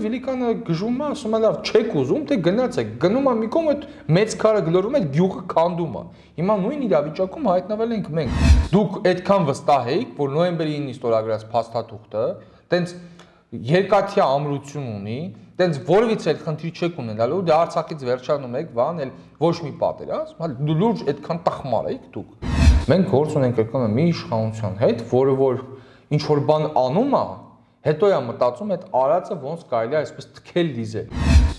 Վիլիկանը գժում է, ասում է լավ, չեք ուզում, թե գնացեք, գնում է մի կողմ այդ մեծ քարը գլորում է, գյուղը քանդում է։ Հիմա նույն իրավիճակում հայտնվել ենք մենք։ Դուք այդքան վստահ եք, որ նոյեմբերի 9-ին ստորագրած փաստաթուղթը տենց երկաթյա ամրություն ունի, տենց որևիցե էլ խնդիր չեք ունենալու, դե Արցախից վերջանում եք, վան էլ ոչ մի պատերազմ, հա լուրջ այդքան տխմար եք դուք։ Մենք գործ ունենք եկել մի իշխանության հետ, որը որ ինչ որ բան անում է, հետո է մտածում այդ արածը ոնց կարելի է այսպես թքել դիզել։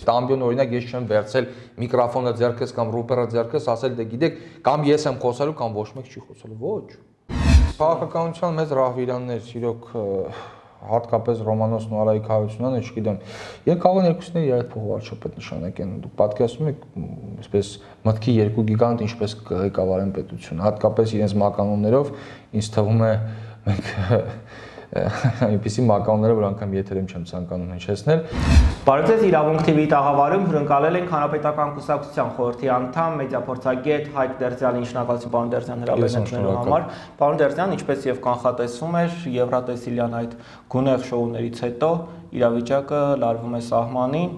Տամբիոն օրինակ ես չեմ վերցել միկրոֆոնը ձեռքս կամ ռուպերը ձեռքս, ասել դե գիտեք, կամ ես եմ խոսելու, կամ ոչ մեկ չի խոսելու, ոչ։ Քաղաքականության մեծ ռահվիրաններ, իրոք հատկապես Ռոմանոսն ու Արայիկ Հարությունյանը, չգիտեմ, եւ կարող են երկուսները իրար փոխվարչապետ նշանակեն։ Դուք պատկերացնում եք, այսպես մտքի երկու գիգանտ ինչպես ղեկավարեն պետությունը, հատկապես իրենց մականուններով, ինձ թվում է մենք այնպիսի մականունները, որ անգամ եթերում չեմ ցանկանում հնչեցնել։ Բարև ձեզ, Իրավունք TV-ի տաղավարում հյուրընկալել ենք Հանրապետական կուսակցության խորհրդի անդամ, մեդիափորձագետ Հայկ Դերձյանի, շնորհակալություն պարոն Դերձյան հրավերելու համար։ Պարոն Դերձյան, ինչպես եւ կանխատեսվում էր, Եվրատեսիլյան այդ գունեղ շոուներից հետո իրավիճակը լարվում է սահմանին,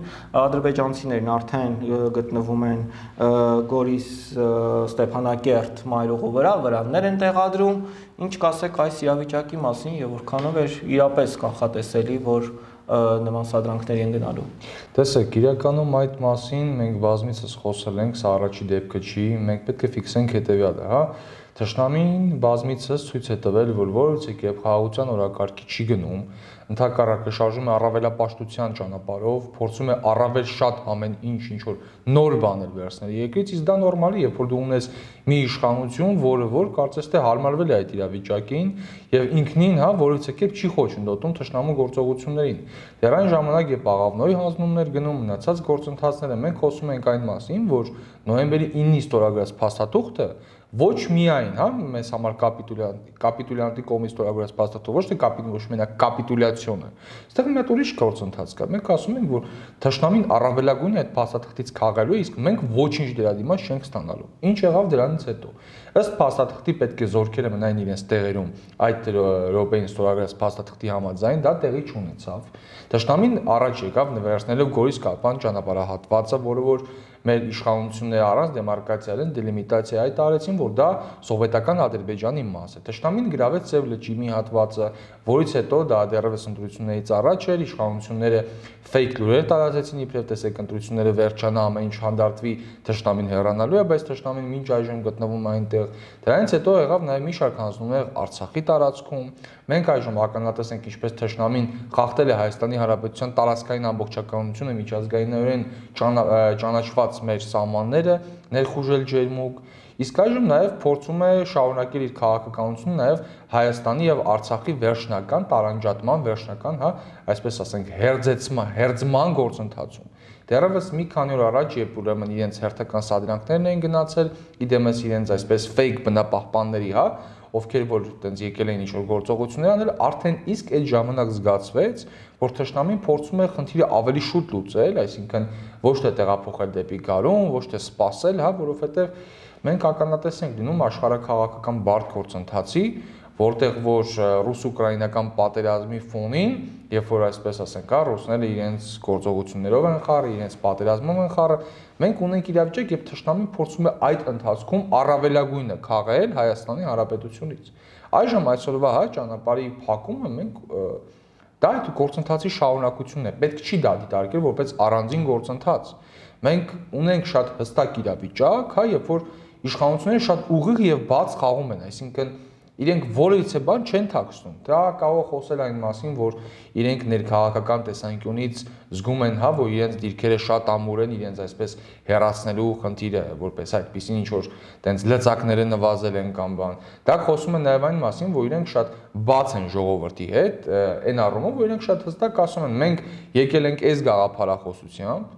ադրբեջանցիներն արդեն գտնվում են Գորիս Ստեփանակերտ մայրուղու վրա, վրաններ են տեղադրում, ինչ կասեք այս իրավիճակի մասին եւ որքանով է իրապես կանխատեսելի, որ նման սադրանքների են գնալու։ Տեսեք, իրականում այդ մասին մենք բազմիցս խոսել ենք, սա առաջի դեպքը չի, մենք պետք է ֆիքսենք հետեւյալը, հա։ Թշնամին բազմիցս ցույց է տվել, որ որևէ կերպ խաղաղության օրակարգի չի գնում, ընդհակառակը շարժում է առավելապաշտության ճանապարհով, փորձում է առավել շատ ամեն ինչ որ նոր բաներ վերցնել երկրից, իսկ դա նորմալ է, երբ որ դու ունես մի իշխանություն, որը որ կարծես թե հարմարվել է այդ իրավիճակին եւ ինքնին, հա, որևէ կերպ չի խոչընդոտում թշնամու գործողություններին։ Դեռ այն ժամանակ, երբ աղավնոյի հանձնումներ գնում, մնացած գործընթացները, մենք խոսում ենք այն մասին, որ նոյեմբերի 9-ի ստորագրած փաստաթուղթը ոչ միայն, հա, մեզ համար կապիտուլյանտի կողմից ստորագրած փաստաթուղթը, ոչ թե ոչ մենակ կապիտուլյացիոն է։ Այստեղ մի հատ ուրիշ գործընթաց կա։ Մենք ասում ենք, որ թշնամին առավելագույնը այդ փաստաթղթից քաղալու է, իսկ մենք ոչինչ դրա դիմաց չենք ստանալու։ Ինչ եղավ դրանից հետո։ Ըստ փաստաթղթի պետք է զորքերը մնային իրենց տեղերում այդ րոպեին ստորագրած փաստաթղթի համաձայն, դա տեղի չունեցավ։ Թշնամին առաջ եկավ նվերացնելով Գորիս Կարպան ճանապարհահատվածը, որը որ մեր իշխանությունները առանց դեմարկացիային դելիմիտացիա այդ արեցին, որ դա սովետական Ադրբեջանի մաս է։ Թշնամին գրավեց Սև լճի մի հատվածը, որից հետո դա դեռևս ընտրություններից առաջ էր, իշխանությունները ֆեյք լուրեր տարածեցին, իբրև տեսեք ընտրությունները վերջանա, ամեն ինչ հանդարտվի, թշնամին հեռանալու է, բայց թշնամին մինչ այժմ գտնվում է այնտեղ։ Դրանից հետո եղավ նաև մի շարք հանձնումներ Արցախի տարածքում։ Մենք այժմ ականատես ենք, ինչպես թշնամին խախտել է Հայաստանի Հանրապետության տարածքային ամբողջականությունը, միջազգայինորեն ճանաչված մեր սահմանները, ներխուժել ջերմուկ, իսկ այժմ նաև փորձում է շարունակել իր քաղաքականությունը նաև Հայաստանի եւ Արցախի վերջնական տարանջատման, վերջնական, հա, այսպես ասենք, հերձման գործընթացում։ Դեռևս մի քանի օր առաջ, երբ ուրեմն իրենց հերթական սադրանքներն էին գնացել, իդեմս իրենց այսպես ֆեյք բնապահպանների, հա, ովքեր որ այտենց եկել էին ինչ-որ գործողություններ անել, արդեն իսկ այդ ժամանակ զգացվեց, որ թշնամին փորձում է խնդիրը ավելի շուտ լուծել, այսինքն ոչ թե տեղափոխել դեպի գարուն, ոչ թե սպասել, հա, որովհետև մենք ականատես ենք լինում աշխարհաքաղաքական բարդ գործընթացի, որտեղ որ ռուս-ուկրաինական պատերազմի ֆոնին, երբ որ այսպես ասենք, հա, ռուսները իրենց գործողություններով են խառը, իրենց պատերազմով են խառը, մենք ունենք իրավիճակ, երբ թշնամին փորձում է այդ ընթացքում առավելագույնը քաղել Հայաստանի Հանրապետությունից։ Այժմ այսօրվա, հա, ճանապարհի փակումը մենք դա այդ գործընթացի շարունակությունն է, պետք չի դա դիտարկել որպես առանձին գործընթաց։ Մենք ունենք շատ հստակ իրավիճակ, հա, երբ որ իշխանությունները շատ ուղիղ եւ բաց խաղում են, այսինքն իրենք որևիցե բան չեն թաքցնում։ Դա կարող խոսել այն մասին, որ իրենք ներքաղաքական տեսանկյունից զգում են, հա, որ իրենց դիրքերը շատ ամուր են, իրենց այսպես հեռացնելու խնդիրը, որպես այդպեսին ինչ որ տենց լծակները նվազել են կամ բան։ Դա խոսում է նաև այն մասին, որ իրենք շատ բաց են ժողովրդի հետ, այն առումով, որ իրենք շատ հստակ ասում են, մենք եկել ենք այս գաղափարախոսությամբ,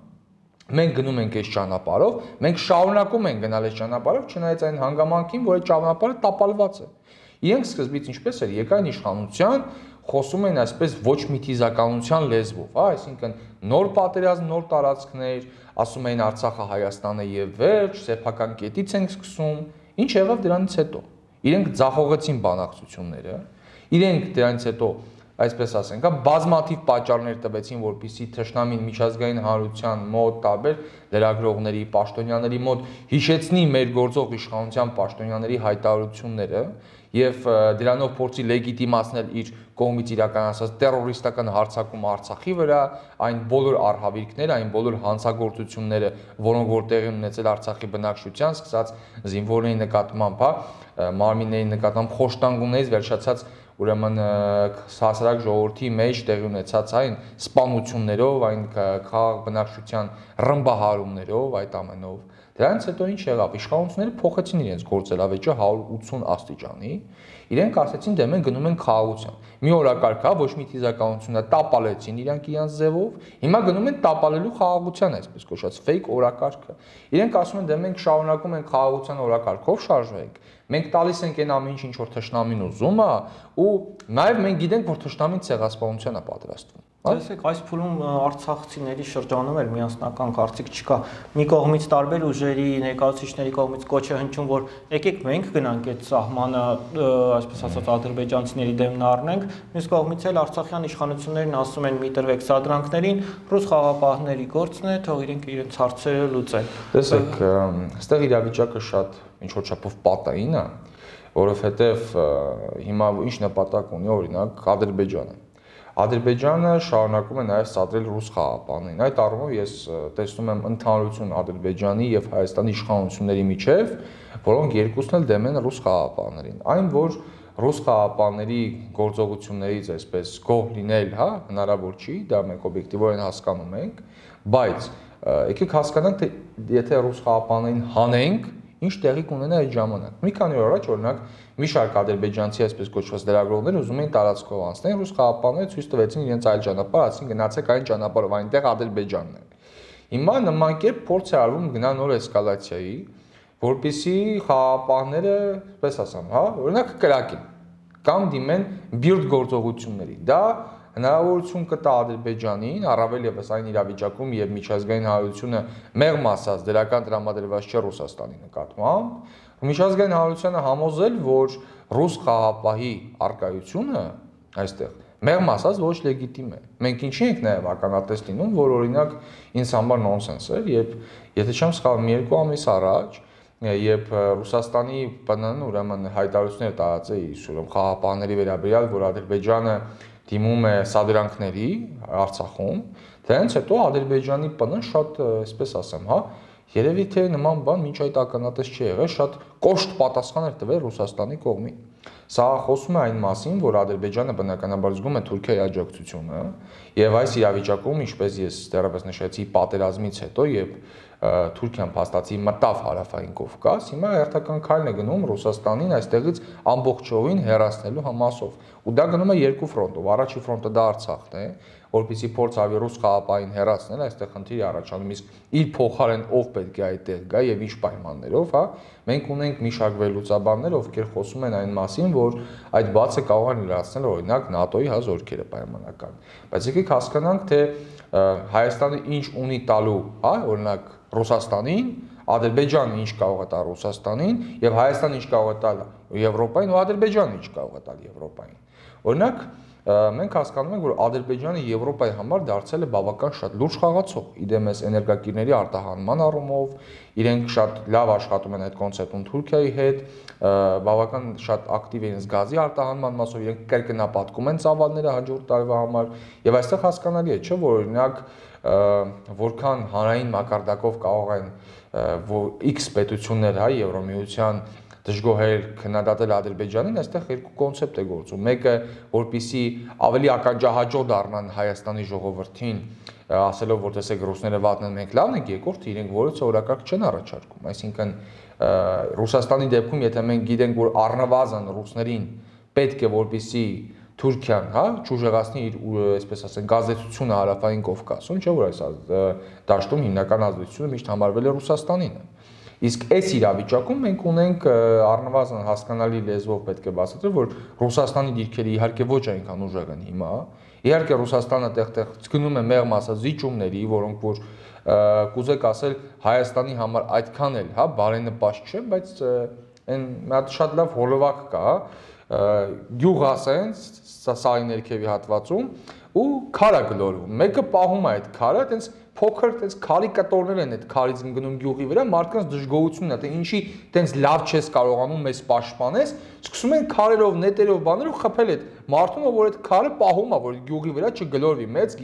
մենք գնում ենք այս ճանապարհով, մենք շարունակում ենք գնալ այս ճանապարհով, չնայած այն հանգամանքին, որ այդ ճանապարհը տապալված է։ Իրենք սկզբից ինչպես էր, եկան իշխանության, խոսում են այսպես ոչ միթիզականության լեզվով, հա, այսինքն նոր պատերազմ, նոր տարածքներ, ասում էին Արցախը Հայաստանը եւ վերջ, սեփական կետից ենք սկսում, ինչ եղավ դրանից հետո։ Իրենք ձախողեցին բանակցությունները, իրենք դրանից հետո այսպես ասենք, հա, բազմաթիվ պատճառներ տվեցին, որպեսզի թշնամին միջազգային հանրության մոտ տարբեր լրագրողների, պաշտոնյաների մոտ հիշեցնի մեր գործող իշխանության պաշտոնյաների հայտարարությունները եւ դրանով փորձի լեգիտիմացնել իր կողմից իրականացած տերորիստական հարձակում Արցախի վրա, այն բոլոր արհավիրքները, այն բոլոր հանցագործությունները, որոնք որ տեղի ունեցել Արցախի բնակչության, սկսած զինվորների նկատմամբ, մարմինների նկատմամբ խոշտանգումներից վերջացած ուրեմն հասարակ ժողովրդի մեջ տեղի ունեցած այն սպանություններով, այն քաղաք բնակչության ռմբահարումներով, այդ ամենով։ Դրանից հետո ինչ եղավ, իշխանությունները փոխեցին իրենց գործելավեճը 180 աստիճանի, իրենք ասացին, դե մենք գնում ենք խաղաղության։ Մի օրակարգ կա, ոչ մի թիզականությունը տապալեցին իրանք ձևով, հիմա գնում են տապալելու խաղաղության, այսպես կոչված fake օրակարգը։ Իրենք ասում են, դե մենք շարունակում ենք խաղաղության օրակարգով շարժվենք։ Մենք տալիս ենք այն ամեն ինչ, որ թշնամին ուզում է, ու նաև մենք գիտենք, որ թշնամին ցեղասպանության է պատրաստվում։ Տեսեք, այս փուլում արցախցիների շրջանում էլ միասնական կարծիք չկա։ Մի կողմից տարբեր ուժերի ներկայացուցիչների կողմից կոչ է հնչում, որ եկեք մենք գնանք այդ սահմանը, այսպես ասած, ադրբեջանցիների դեմն առնենք, մյուս կողմից էլ արցախյան իշխանություններն ասում են՝ մի տրվեք սադրանքներին, ռուս խաղապահների գործն է, թող իրենց հարցերը լուծեն։ Տեսեք, այստեղ իրավիճակը շատ ինչ-որ չափով պատային է, որովհետև հիմա ինչ նպատակ ունի օրինակ Ադրբեջանը։ Ադրբեջանը շարունակում է նաև սադրել ռուս խաղապահներին։ Այդ առումով ես տեսնում եմ ընդհանրություն Ադրբեջանի եւ Հայաստանի իշխանությունների միջև, որոնք երկուսն էլ դեմ են ռուս խաղապահներին։ Այն, որ ռուս խաղապահների գործողություններից այսպես գոհ լինել, հա, հնարավոր չի, դա մենք օբյեկտիվորեն հասկանում ենք, բայց եկեք հասկանանք, թե եթե ռուս խաղապահներին հանենք, ինչ տեղի կունենա այդ ժամանակ։ Մի քանի օր առաջ օրինակ մի շարք ադրբեջանցի այսպես կոչված լրագրողներ ուզում էին տարածքով անցնել, ռուս խաղապահները ցույց տվեցին իրենց այլ ճանապարհ, ասին գնացեք այն ճանապարհով, այնտեղ Ադրբեջանն է։ Հիմա նման կերպ փորձ է արվում գնալ նոր էսկալացիայի, որպեսզի խաղապահները, այսպես ասեմ, հա, օրինակ կրակեն կամ դիմեն բիրտ գործողությունների։ Դա հնարավորություն կտա Ադրբեջանին, առավել ևս այն իրավիճակում, եւ միջազգային հանրությունը մեղմ ասած դրական տրամադրված չէ Ռուսաստանի նկատմամբ, միջազգային հանրությանը համոզել, որ ռուս խաղապահի արկայությունը այստեղ մեղմ ասած ոչ լեգիտիմ է։ Մենք ինչի ենք նաեւ ականատես լինում, որ օրինակ ինձ համար նոնսենս է, երբ եթե չեմ սխալվում, 2 ամիս առաջ երբ Ռուսաստանի ՊՆ-ն ուրեմն հայտարարություններ տարածեց ուրեմն խաղապահների վերաբերյալ, որ Ադրբեջանը դիմում է սադրանքների Արցախում, դրանից հետո Ադրբեջանի ՊՆ-ն շատ, այսպես ասեմ, հա, երևի թե նման բան մինչ այդ ականատես չի եղել, շատ կոշտ պատասխան էր տվել Ռուսաստանի կողմին։ Սա խոսում է այն մասին, որ Ադրբեջանը բնականաբար զգում է Թուրքիայի աջակցությունը, եւ այս իրավիճակում, ինչպես ես դեռևս նշեցի, պատերազմից հետո, երբ Թուրքիան փաստացի մտավ Հարավային Կովկաս, հիմա հերթական քայլն է գնում Ռուսաստանին այստեղից ամբողջովին հեռացնելու համասով։ Ու դա գնում է երկու ֆրոնտով։ Առաջի ֆրոնտը դա Արցախն է, որպեսզի փորձ արվի ռուս խաղապահին հեռացնել, այստեղ խնդիր առաջանում, իսկ իր փոխարեն ով պետք է այդտեղ գա եւ ինչ պայմաններով, հա։ Մենք ունենք մի շարք վերլուծաբաններ, ովքեր խոսում են այն մասին, որ այդ բացը կարող են լրացնել օրինակ ՆԱՏՕ-ի հա զորքերը պայմանական։ Բայց եկեք հասկանանք, թե Հայաստանը ինչ ունի տալու, հա, օրինակ Ռուսաստանին, Ադրբեջանը ինչ կարող է տալ Ռուսաստանին եւ Հայաստանը ինչ կարող է տալ Եվրոպային ու Ադրբեջանը ինչ կարող է տալ Եվրոպային։ Օրինակ մենք հասկանում ենք, որ Ադրբեջանը Եվրոպայի համար դարձել է բավական շատ լուրջ խաղացող, իդեմս էներգակիրների արտահանման առումով, իրենք շատ լավ աշխատում են այդ կոնցեպտում Թուրքիայի հետ, բավական շատ ակտիվ են գազի արտահանման մասով, իրենք կրկնապատկում են ծավալները հաջորդ տարվա համար, եւ այստեղ հասկանալի է, չէ՞, որ օրինակ որքան հանրային մակարդակով կարող են X պետություններ, հա, Եվրոմիության դժգոհել քննադատել Ադրբեջանին, այստեղ երկու կոնցեպտ է գործում։ Մեկը, որպեսզի ավելի ականջահաճո դառնան Հայաստանի ժողովրդին, ասելով, որ տեսեք ռուսները վատն են, մենք լավն ենք, երկրորդը իրենք որևէ օրակարգ չեն առաջարկում։ Այսինքն Ռուսաստանի դեպքում, եթե մենք գիտենք, որ առնվազն ռուսներին պետք է որպեսզի Թուրքիան, հա, ճուժեղացնի իր, այսպես ասենք, ազդեցությունը Հարավային Կովկասում, չէ՞ որ այս դաշտում հիմնական ազդեցությունը միշտ համարվել է Ռուսաստանին։ Իսկ այս իրավիճակում մենք ունենք առնվազն հասկանալի լեզվով պետք է բացատրել, որ Ռուսաստանի դիրքերը իհարկե ոչ այնքան ուժեղ են հիմա, իհարկե Ռուսաստանը տեղ-տեղ գնում է մեղմ ասած զիջումների, որոնք որ կուզեք ասել Հայաստանի համար այդքան էլ, հա, բարենպաստ չէ, բայց այն մի հատ շատ լավ հոլովակ կա, գյուղ ասենց սարի ներքևի հատվածում ու քար է գլորվում։ Մեկը պահում է այդ քարը, այտենց փոքր այտենց քարի կտորներ են այդ քարից գնում գյուղի վրա, մարդկանց դժգոհությունն է, թե ինչի այտենց լավ չես կարողանում մեզ պաշտպանես, սկսում են քարերով, նետերով, բաներով խփել այդ մարդուն, որ այդ քարը պահում է, որ գյուղի վրա չգլորվի, մեծ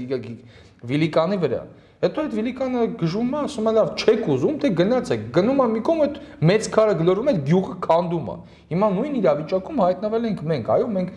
վիլիկանի վրա։ Հետո այդ վիլիկանը գժում է, ասում է լավ, չեք ուզում, թե գնացեք, գնում է մի կողմ այդ մեծ քարը գլորվում է, այդ գյուղը քանդում է։ Հիմա նույն իրավիճակում հայտնվել ենք մենք, այո, մենք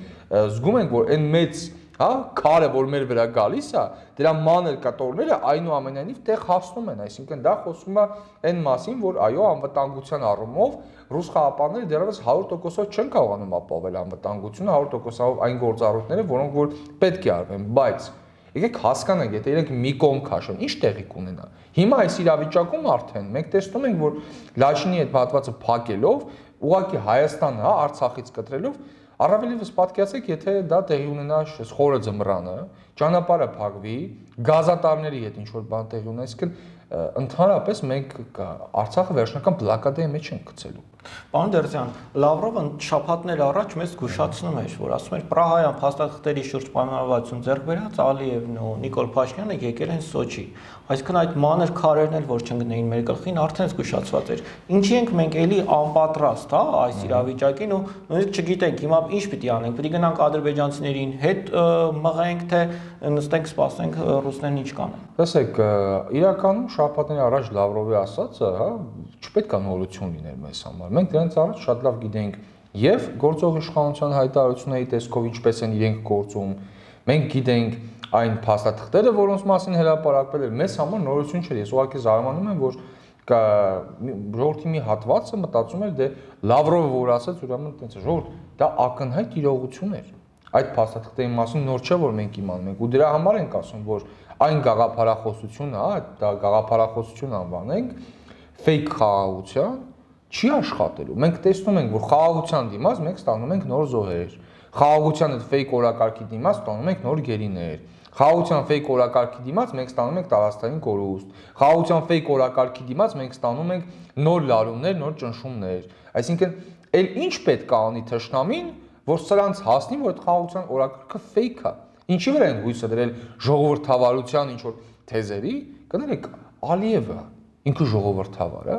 զգում ենք, որ այն մեծ հա քարը որ մեր վրա գալիս է, դրա մանր կտորները այնուամենայնիվ տեղ հասնում են, այսինքն դա խոսում է այն մասին, որ այո, անվտանգության առումով ռուս խաղապանները դեռևս 100%-ով չեն կարողանում ապահովել անվտանգությունը, 100%-ով այն գործառույթները, որոնք որ պետք է արվեն, բայց եկեք հասկանանք, եթե իրենք մի կողմ քաշեն, ինչ տեղի կունենա։ Հիմա այս իրավիճակում արդեն մենք տեսնում ենք, որ Լաչինի այդ հատվածը փակելով, ուղղակի Հայաստանը, հա, Արցախից կտրելով Առավելևս պատկերացեք, եթե դա տեղի ունենա խորը ձմռանը, ճանապարհը փակվի, գազատարների հետ ինչ-որ բան տեղի ունենա, այսինքն ընդհանրապես մենք Արցախը վերջնական բլոկադայի մեջ ենք գցելու։ Պարոն Դերձյան, Լավրովը շաբաթներ առաջ մեզ զգուշացնում էր, որ ասում էր Պրահայյան փաստաթղթերի շուրջ պայմանավորվածություն ձեռք բերած Ալիևն ու Նիկոլ Փաշինյանը եկել են Սոչի։ Այսինքն այդ մանր քարերն էլ որ չընկնեին մեր գլխին, արդեն զգուշացված էր։ Ինչի ենք մենք էլի անպատրաստ, հա, այս իրավիճակին ու նույնիսկ չգիտենք հիմա ինչ պիտի անենք, պիտի գնանք ադրբեջանցիներին հետ մղենք, թե նստենք սպասենք ռուսներն ինչ կանեն։ Տեսեք, իրականում շաբաթներ առաջ Լավրովի ասածը, հա, չպետք է նորություն լիներ մեզ համար։ Մենք դրանից առաջ շատ լավ գիտենք եւ գործող իշխանության հայտարարությունների տեսքով ինչպես են իրենք գործում։ Մենք գիտենք այն փաստաթղթերը, որոնց մասին հրապարակվել էր, մեզ համար նորություն չէր։ Ես ուղղակի զարմանում եմ, որ ժողովրդի մի հատվածը մտածում էր, դե Լավրովը որ ասաց, ուրեմն այդպես է, ժողովուրդ, դա ակնհայտ իրողություն էր։ Այդ փաստաթղթերի մասին նոր չէ, որ մենք իմանում ենք, ու դրա համար ենք ասում, որ այն գաղափարախոսությունը, հա, դա գաղափարախոսություն անվանենք, fake խաղաղության չի աշխատելու։ Մենք տեսնում ենք, որ խաղաղության դիմաց մենք ստանում ենք նոր զոհեր։ Խաղաղության այդ fake օրակարգի դիմաց ստանում ենք նոր գերիներ։ Խաղաղության fake օրակարգի դիմաց մենք ստանում ենք տարածքային կորուստ։ Խաղաղության fake օրակարգի դիմաց մենք ստանում ենք նոր լարումներ, նոր ճնշումներ։ Այսինքն, ել ինչ պետք է անի թշնամին, որ սրանց հասնի, որ այդ խաղաղության օրակարգը fake է։ Ինչի վրա են հույսը դրել ժողովրդավարության ինչ որ թեզերի, կներեք, Ալիևը ինքը ժողովրդավար է,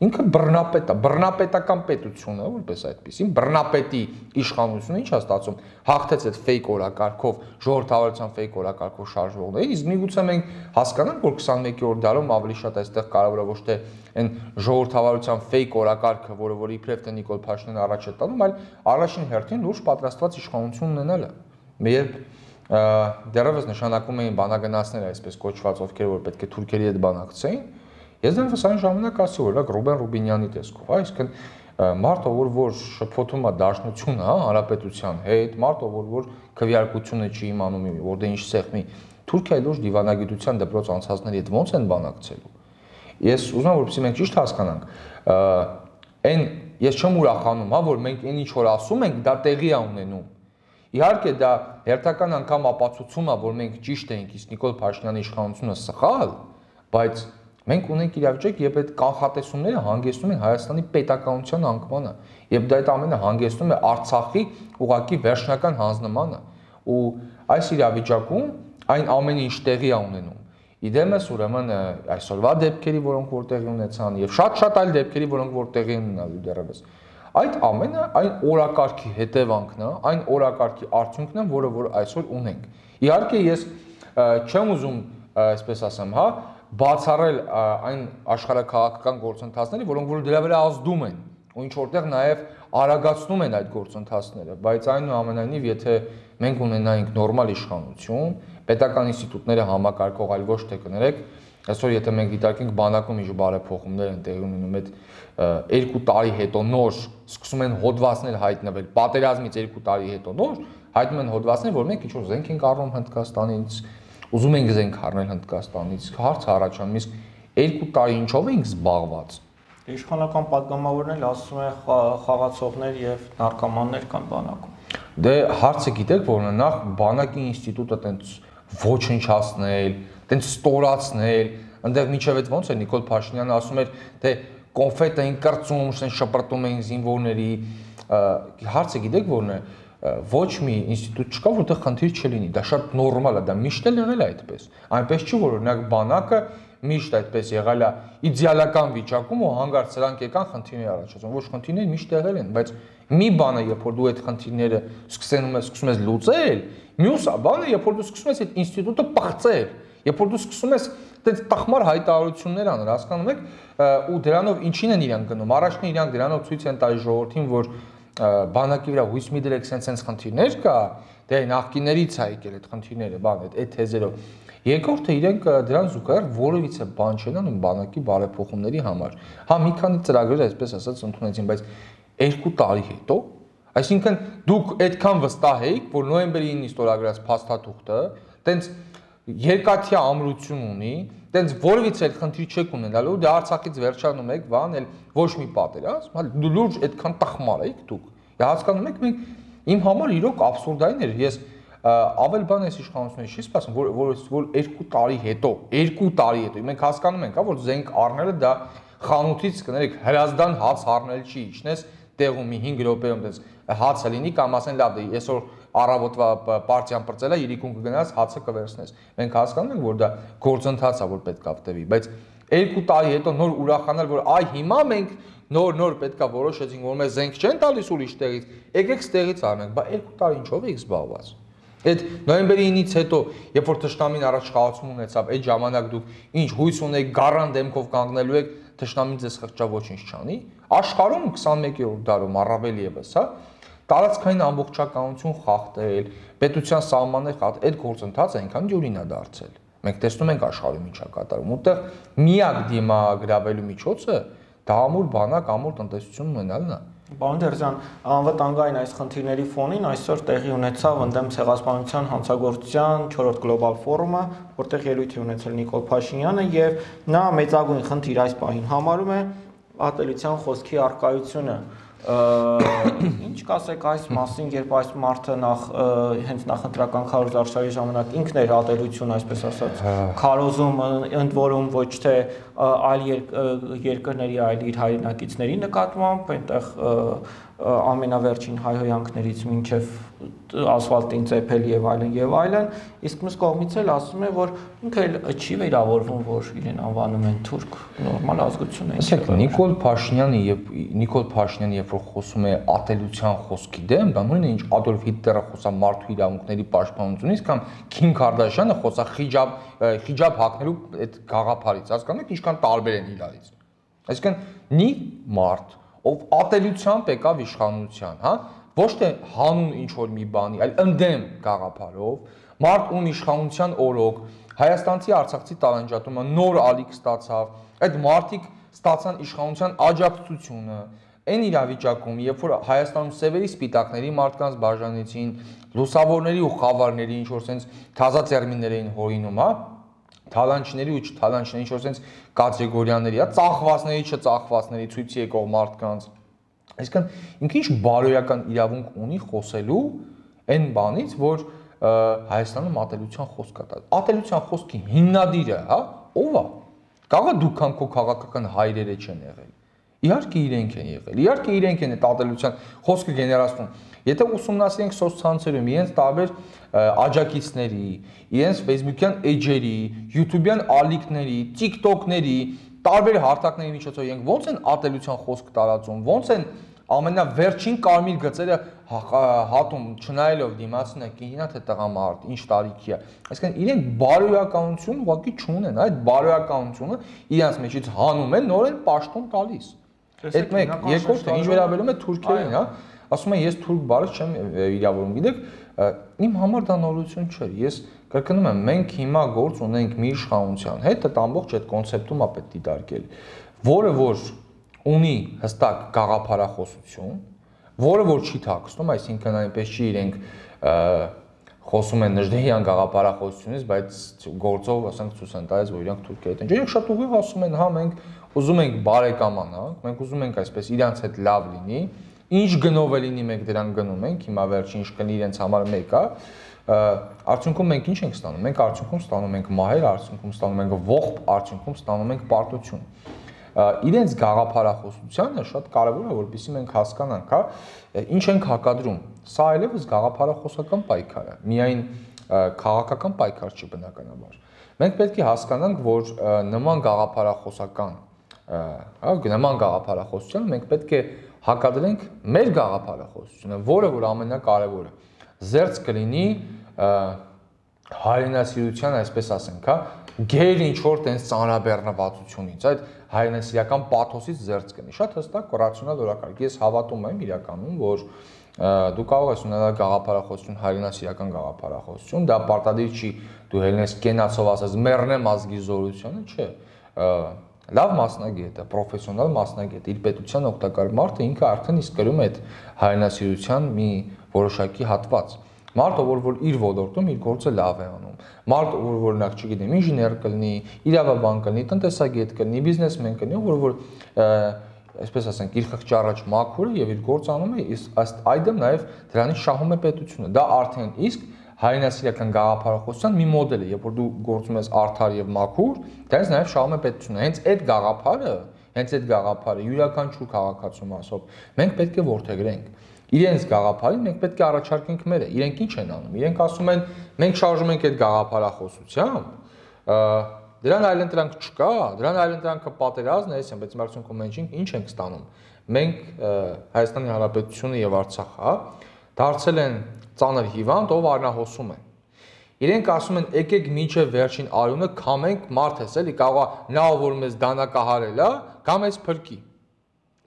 ինքը բռնապետ է, բռնապետական պետությունը, որպես այդպեսին, բռնապետի իշխանությունը ինչ է ստացում, հաղթեց այդ fake օրակարգով, ժողովրդավարության fake օրակարգով շարժվողներին, իսկ միգուցե մենք հասկանանք, որ 21-րդ դարում ավելի շատ այստեղ կարևորը ոչ թե այն ժողովրդավարության fake օրակարգը, որը իբրև թե Նիկոլ Փաշինյանը առաջ է տանում, այլ առաջին հերթին լուրջ պատրաստված իշխանություն ունենալը։ Երբ դեռևս նշանակում էին բանագնացները, այսպես կոչված, ովքեր որ պետք է թուրքերի հետ բանակցեին, ես դեռևս այն ժամանակ ասի, որ Ռուբեն Ռուբինյանի տեսքով, այսինքն մարդը որ շփոթում է դաշնությունը, հա, հանրապետության հետ, մարդը որ քվեարկությունը չի իմանում, որ դե ինչ սեղմի, Թուրքիայի լուրջ դիվանագիտության դպրոց անցածների հետ ո՞նց են բանակցելու։ Ես ուզում եմ, որպեսզի մենք ճիշտ հասկանանք, այն ես չեմ ուրախանում, հա, որ մենք այն ինչ որ ասում ենք, դա տեղի է ունենում։ Իհարկե դա հերթական անգամ ապացուցում է, որ մենք ճիշտ ենք, իսկ Նիկոլ Փաշինյանի իշխանությունը սխալ, բայց մենք ունենք իրավիճակ, երբ այդ կանխատեսումները հանգեցնում են Հայաստանի պետականության անկմանը, երբ դա այդ ամենը հանգեցնում է Արցախի ուղղակի վերջնական հանձնմանը, ու այս իրավիճակում այն ամենը ինչ տեղի է ունենում։ Իդեմս ուրեմն այսօրվա դեպքերի, որոնք որ տեղի ունեցան, եւ շատ այլ դեպքերի, որոնք որ տեղի են ունենալու դեռևս։ Այդ ամենը այն օրակարգի հետևանքն է, այն օրակարգի արդյունքն է, որը որ այսօր ունենք։ Իհարկե ես չեմ ուզում, այսպես ասեմ, հա, բացառել այն աշխարհաքաղաքական գործընթացները, որոնք որ դրա վրա ազդում են, ու ինչ որտեղ նաև արագացնում են այդ գործընթացները, բայց այնուամենայնիվ, եթե մենք ունենայինք նորմալ իշխանություն, պետական ինստիտուտները համակարգող, այլ ոչ թե կներեք, այսօր եթե մենք դիտարկենք բանակում ինչ բարեփոխումներ են տեղի ունենում, այդ 2 տարի հետո նոր սկսում են հոդվածներ հայտնվել, պատերազմից 2 տարի հետո նոր հայտնում են հոդվածներ, որ մենք ինչ-որ զենք ենք առնում Հնդկաստանից, ուզում ենք զենք առնել Հնդկաստանից, հարց առաջանում, իսկ 2 տարի ինչով ենք զբաղված։ Իշխանական падգամավորներն ասում են խաղացողներ եւ նարկոմաններ կան բանակում։ Դե հարցը գիտեք, որ նախ բանակի ինստիտուտը տենց ոչնչացնել, տենց ստորացնել, այնտեղ միջև այդ ոնց է Նիկոլ Փաշինյանը ասում էր, թե կոնֆետ էին կրծում, շպրտում էին զինվորների, հարցը գիտեք որն է, ոչ մի ինստիտուտ չկա, որտեղ խնդիր չլինի, դա շատ նորմալ է, դա միշտ էլ եղել է այդպես։ Այնպես չի, որ օրինակ բանակը միշտ այդպես եղել է իդեալական վիճակում ու հանգարց սրանք եկան խնդիրներ առաջացան։ Ոչ, խնդիրները միշտ եղել են, բայց մի բանը, երբ որ դու այդ խնդիրները սկսում ես լուծել, մյուս բանը, երբ որ դու սկսում ես այդ ինստիտուտը պղծել, երբ որ դու սկսում ես այդպես տխմար հայտարարություններ անել, հասկանում եք, ու դրանով ինչին են իրանք գնում։ Առաջին իրանք դրանով ցույց են տալիս ժողովրդին, որ բանակի վրա հույս մի դրեք sense խնդիրներ կա, դե նախկիներից է եկել այդ խնդիրները, բան այդ թեզերով։ Երկրորդը իրենք դրան զուգահեռ որևիցե բան չեն անում բանակի բարեփոխումների համար։ Հա մի քանի ծրագրեր այսպես ասած ընդունեցին, բայց 2 տարի հետո, այսինքն դուք այդքան վստահ եք, որ նոյեմբերի 9-ին ստորագրած փաստաթուղթը տենց երկաթյա ամրություն ունի, տենց որևիցե այլ խնդիր չեք ունենալու, դե Արցախից վերջանում եք, բան, էլ ոչ մի պատերազմ, հա դու լուրջ այդքան տխմար եք դուք։ Հասկանում եք, մենք իմ համար իրոք աբսուրդային էր, ես ավել բան այս իշխանությունից չի սպասում, որ 2 տարի հետո, 2 տարի հետո մենք հասկանում ենք, հա, որ զենք առնելը դա խանութից կներեք հրազդան հաց առնել չի, իջնես տեղում մի 5 րոպեում դες հացը լինի կամ ասեն լավ դե այսօր առավոտվա պարտիան բրծել է, իրիկուն կգնաս հացը կվերցնես։ Մենք հասկանում ենք, որ դա գործընթաց է, որ պետք է տևի, բայց 2 տարի հետո նոր ուրախանալ, որ այ հիմա մենք նոր պետք է որոշեցինք, որ մեզ զենք չեն տալիս ուրիշ տեղից, եկեք ստեղից առնենք, բա 2 տարի ինչով եք զբաղված։ Այդ նոյեմբերի 9-ից հետո, երբ որ թշնամին առաջխաղացում ունեցավ, այդ ժամանակ դուք ինչ հույս ունեք, գառան դեմքով կանգնելու եք, թշնամին ձեզ խղճա ոչինչ չանի։ Աշխարհում 21-րդ դարում առավել եւս, հա, տարածքային ամբողջականություն խախտել, պետության սահմաններ խախտել, այդ գործընթացը այնքան դյուրին է դարձել։ Մենք տեսնում ենք աշխարհում ինչ է կատարում, որտեղ միակ դիմագրավելու միջոցը դա ամուր բանակ, ամուր տնտեսություն ունենալն է։ Պարոն Տերզյան, անվտանգային այս խնդիրների ֆոնին այսօր տեղի ունեցավ ընդդեմ ցեղասպանության հանցագործության 4-րդ գլոբալ ֆորումը, որտեղ ելույթ է ունեցել Նիկոլ Փաշինյանը եւ նա մեծագույն խնդիր այս պահին համարում է ատելության խոսքի առկայությունը։ Ինչ կասեք այս մասին, երբ այս մարդը հենց նախընտրական քարոզարշավի ժամանակ ինքն էր ատելություն, այսպես ասած, քարոզում, ընդ որում ոչ թե այլ երկրների, այլ իր հայրենակիցների նկատմամբ, այնտեղ ամենավերջին հայհոյանքներից մինչև ասֆալտին ծեփել եւ այլն, իսկ մյուս կողմից էլ ասում է, որ ինքը չի վերավորվում, որ իրեն անվանում են թուրք, նորմալ ազգություն է։ Ասեք, Նիկոլ Փաշինյանը, երբ որ խոսում է ատելության խոսքի դեմ, դա նույնն է ինչ Ադոլֆ Հիտլերը խոսա մարդու իրավունքների պաշտպանությունից կամ Քիմ Քարդաշյանը խոսա խիջաբ հագնելու այդ գաղափարից, հասկանում եք, ինչքան տարբեր են իրարից։ Այսինքն մի մարդ, ով ատելությամբ եկավ իշխանության, հա, ոչ թե հանուն ինչ որ մի բանի, այլ ընդդեմ գաղափարով, մարդ ում իշխանության օրոք հայաստանցի արցախցի տարանջատումը նոր ալիք ստացավ, այդ մարդիկ ստացան իշխանության աջակցությունը, այն իրավիճակում, երբ որ Հայաստանում սևերի սպիտակների մարդկանց բաժանեցին, լուսավորների ու խավարների ինչ որ sense թազա տերմիններ էին հորինում, հա, թալանչների ու չթալանչների ինչ որ sense կատեգորիաների, հա, ծախվածների, չծախվածների ցույցի եկող մարդկանց։ Այսինքն ինքը ինչ բարոյական իրավունք ունի խոսելու այն բանից, որ Հայաստանում ատելության խոսք կա։ Ատելության խոսքի հիմնադիրը, հա, ով է։ Կարող է դուքան քո քաղաքական հայրերը չեն եղել։ Իհարկե իրենք են եղել։ Իհարկե իրենք են այդ ատելության խոսքը գեներացնում։ Եթե ուսումնասիրենք սոցցանցերում իրենց տարբեր աջակիցների, իրենց Facebook-յան էջերի, YouTube-յան ալիքների, TikTok-ների, տարբեր հարթակների միջոցով իրենք ո՞նց են ատելության խոսք տարածում, ո՞նց են ամենավերջին կարմիր գծերը հատում, չնայելով դիմացին է կինա թե տղամարդ, ինչ տարիքի է։ Այսինքն իրենք բարոյականություն ուղղակի չունեն, այդ բարոյականությունը իրենց մեջից հանում են, նորեն պաշտոն տալիս։ Այդ մեկ, երկրորդը ինչ վերաբերում է թուրքերին, հա, ասում են ես թուրք բառը չեմ իրավորում, գիտեք, իմ համար դա նորություն չէր։ Ես կրկնում եմ, մենք հիմա գործ ունենք մի իշխանության հետ, այդ ամբողջ այդ կոնցեպտում է պետք դիտարկել, որը որ ունի հստակ գաղափարախոսություն, որը որ չի թաքցնում, այսինքն այնպես չի իրենք խոսում են Նժդեհյան գաղափարախոսությունից, բայց գործով ասենք ցույց են տալիս, որ իրանք թուրքեր են։ Իրենք շատ ուղիղ ասում են, հա, մենք ուզում ենք բարեկամանանք, մենք ուզում ենք այսպես իրանց հետ լավ լինի, ինչ գնով է լինի մենք դրան գնում ենք, հիմա վերջին ինչ կլինի իրենց համար մեկ է, արդյունքում մենք ինչ ենք ստանում, մենք արդյունքում ստանում ենք մահեր, արդյունքում ստանում ենք ողբ, արդյունքում ստանում ենք պարտություն։ իրենց գաղափարախոսությանը շատ կարևոր է, որպեսզի մենք հասկանանք, հա, ինչ ենք հակադրում։ Սա այլևս գաղափարախոսական պայքար է, միայն քաղաքական պայքար չի բնականաբար։ Մենք պետք է հասկանանք, որ նման գաղափարախոսությանը մենք պետք է հակադրենք մեր գաղափարախոսությունը, որը որ ամենակարևորը զերծ կլինի հայրենասիրության, այսպես ասենք, հա, գեր ինչ որ տենց ծանրաբեռնվածությունից, այդ հայրենասիրական պաթոսից զերծ կլինի։ Շատ հստակ ռացիոնալ օրակարգ։ Ես հավատում եմ իրականում, որ դու կարող ես ունենալ գաղափարախոսություն, հայրենասիրական գաղափարախոսություն, դա պարտադիր չի դու հելնես կենացով ասած մեռնեմ ազգի զորությունը, չէ։ Լավ մասնագետ է, պրոֆեսիոնալ մասնագետ, իր պետության օգտակար մարդը ինքը արդեն իսկ կրում է այդ հայրենասիրության մի որոշակի հատված։ Մարդը, որ իր ոլորտում իր գործը լավ է անում։ Մարդը, որ օրինակ, չգիտեմ, ինժեներ կլինի, իրավաբան կլինի, տնտեսագետ կլինի, բիզնեսմեն կլինի, որ այսպես ասենք, իր խղճի առաջ մաքուր է եւ իր գործը անում է, ըստ այդմ նաեւ դրանից շահում է պետությունը։ Դա արդեն իսկ հայրենասիրական գաղափարախոսության մի մոդել է, երբ որ դու գործում ես արդար եւ մաքուր, դրանից նաեւ շահում է պետությունը։ Հենց այդ գաղափարը յուրաքանչյուր քաղաքացու մասով մենք պետք է որդեգրենք։ Իրենց գաղափարին մենք պետք է առաջարկենք մերը։ Իրենք ինչ են անում։ Իրենք ասում են, մենք շարժում ենք այդ գաղափարախոսությամբ, դրան այլընտրանք չկա, դրան այլընտրանքը պատերազմն է, բայց արդյունքում մենք ինչ ենք ստանում։ Մենք Հայաստանի Հանրապետությունը եւ Արցախը դարձել են ծանր հիվանդ, ով արնահոսում է։ Իրենք ասում են, եկեք մինչև վերջին արյունը քամենք, մարդ էլի կարող է նա որ մեզ դանակահարել է, կամ էս փրկի։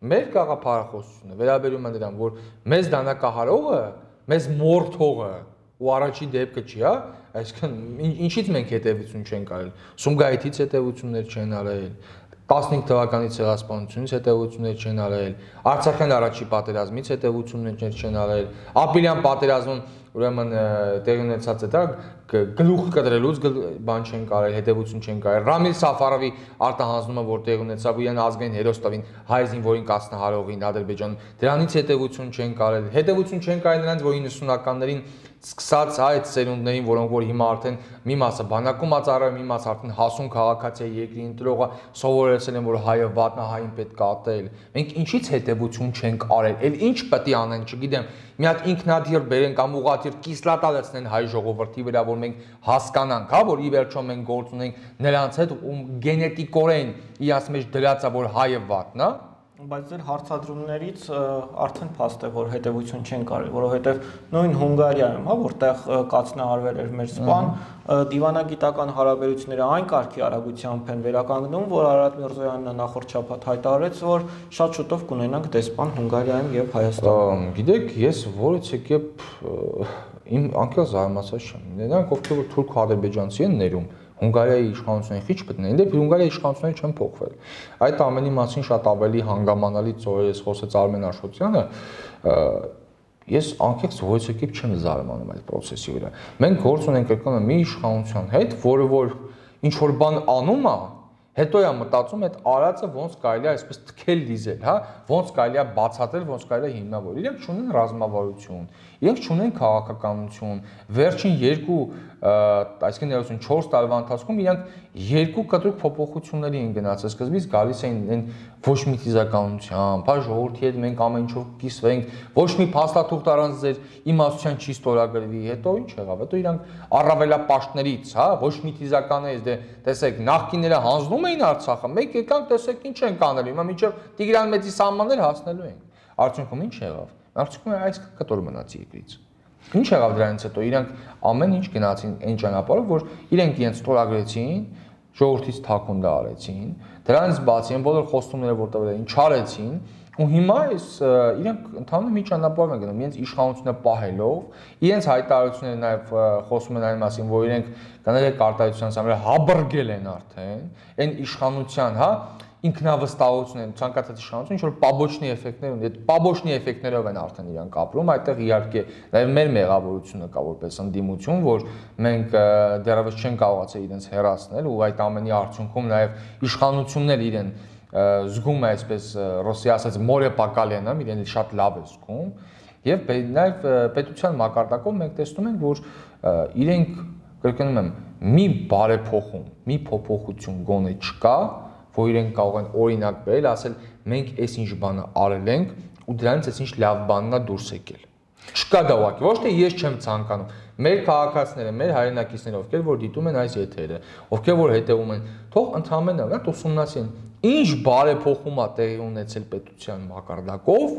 Մեր գաղափարախոսությունը վերաբերում է նրան, որ մեզ դանակահարողը, մեզ մորթողը ու առաջի դեպքը չի, հա, այսինքն ինչից մենք հետևություն չենք արել։ Սումգայիթից հետևություններ չեն արել, 15 թվականի ցեղասպանությունից հետևություններ չեն արել, Արցախյան առաջի պատերազմից հետևություններ չեն արել, Ապրիլյան պատերազմում ուրեմն տեղի ունեցած է դա գլուխ կտրելուց բան չեն կարել, հետևություն չեն կարել։ Ռամիլ Սաֆարովի արտահանձնումը, որ տեղի ունեցավ իրեն ազգային հերոս տվին հայ զինվորին կազմահարողին Ադրբեջանում, դրանից հետևություն չեն կարել։ Հետևություն չեն կարել նրանց, որ 90-ականներին սկսած այդ սերունդներին, որոնք որ հիմա արդեն մի մասը բանակում ածառայում, մի մասը արդեն հասուն քաղաքացի է, երկրի ընտրողը սովորեցել են, որ հայը վատնա, հային պետք է ատել։ Մենք ինչից հետևություն չենք արել, էլ ինչ պետք է անենք, չգիտեմ, մի հատ ինքնադիր բերեն կամ ուղղաթիռ կիսլատալեցնեն հայ ժողովրդի վրա, որ մենք հասկանանք, հա, որ ի վերջո մենք գործ ունենք նրանց հետ, ում գենետիկորեն իրաց մեջ դրած է, որ հայը վատնա։ Բայց ձեր հարցադրումներից արդեն փաստ է, որ հետևություն չեն կարել, որովհետև նույն Հունգարիայում, հա, որտեղ կացնահարվել էր մեր սպան, դիվանագիտական հարաբերությունները այն կարգի արագությամբ են վերականգնում, որ Արարատ Միրզոյանը նախորդ շաբաթ հայտարարեց, որ շատ շուտով կունենանք դեսպան Հունգարիայում եւ Հայաստանում։ Գիտեք, ես որից եկեփ իմ անկյալ զարմացած չեմ։ Նրանք ովքեր որ թուրք ադրբեջանցի են ներում Հունգարիայի իշխանությունների խիչ պտնեն, դեպի Հունգարիայի իշխանությունները չեն փոխվել։ Այդ ամենի մասին շատ ավելի հանգամանալի ծորերս խոսեց Արմեն Աշոտյանը, ես անկեղծ որից եկեփ չեմ զարմանում այդ process-ի վրա։ Մենք գործ ունենք կրկնում մի իշխանության հետ, որը որ ինչ որ բան անում է, հետո է մտածում այդ արածը ոնց կարելի է այսպես թքել դիզել, հա, ոնց կարելի է բացատրել, ոնց կարելի է հիմնավորել։ Իրենք չունեն ռազմավարություն, իրենք չունեն քաղաքականություն։ Վերջին այսինքն 4 տարվա ընթացքում իրենք երկու կտրուկ փոփոխությունների են գնացել։ Սկզբից գալիս էին այն ոչ մի թիզականությամբ, հա, ժողովրդի հետ մենք ամեն ինչով կիսվենք, ոչ մի փաստաթուղթ առանց ձեր իմաստության չի ստորագրվի։ Հետո ինչ եղավ։ Հետո իրանք առավելապաշտներից, հա, ոչ մի թիզականերից դե տեսեք, նախկինները հանձնում էին Արցախը, մենք եկանք տեսեք ինչ ենք անել, հիմա մինչև Տիգրան Մեծի սահմաններ հասնելու ենք։ Արդյունքում ինչ եղավ։ Արդյունքում այս կտոր մնաց երկրից։ Ինչ եղավ դրանից հետո իրանք ամեն ինչ գնացին այն ճանապարհով, որ իրենք իրենց ստորագրեցին, ժողովրդից թաքուն արեցին, դրանից բացի այն բոլոր խոստումները որ տվել էին, չարեցին, ու հիմա այս իրենք ընդհանուր մի ճանապարհ են գնում, իրենց իշխանությունը պահելով, իրենց հայտարարությունները նաև խոսում են այն մասին, որ իրենք կներեք արտահայտության համարը հաբրգել են արդեն, այն իշխանության, հա, ինքնավստահություն են, ցանկացած իշխանություն, ինչ որ պաբոչնի էֆեկտներ ունի, այդ պաբոչնի էֆեկտներով են արդեն իրանք ապրում, այդտեղ իհարկե նաև մեր մեղավորությունը կա որպես ընդդիմություն, որ մենք դեռևս չեն կարողացել իրենց հեռացնել ու այդ ամենի արդյունքում նաև իշխանություններ իրեն զգում է այսպես ռուսի ասած մորե պակալենը, իրեն շատ լավ է զգում, եւ նաև պետության մակարդակով մենք տեսնում ենք, որ իրենք կրկնում եմ, մի բարեփոխում, մի փոփոխություն գոնե չկա, որ իրենք կարող են օրինակ բերել, ասել մենք այս ինչ բանը արել ենք ու դրանից այս ինչ լավ բանն է դուրս եկել։ Չկա դա ուղղակի, ոչ թե ես չեմ ցանկանում։ Մեր քաղաքացիները, մեր հայրենակիցները, ովքեր որ դիտում են այս եթերը, ովքեր որ հետևում են, թող ընդհանրապես ուսումնասիրեն, ինչ բարեփոխում է տեղի ունեցել պետության մակարդակով,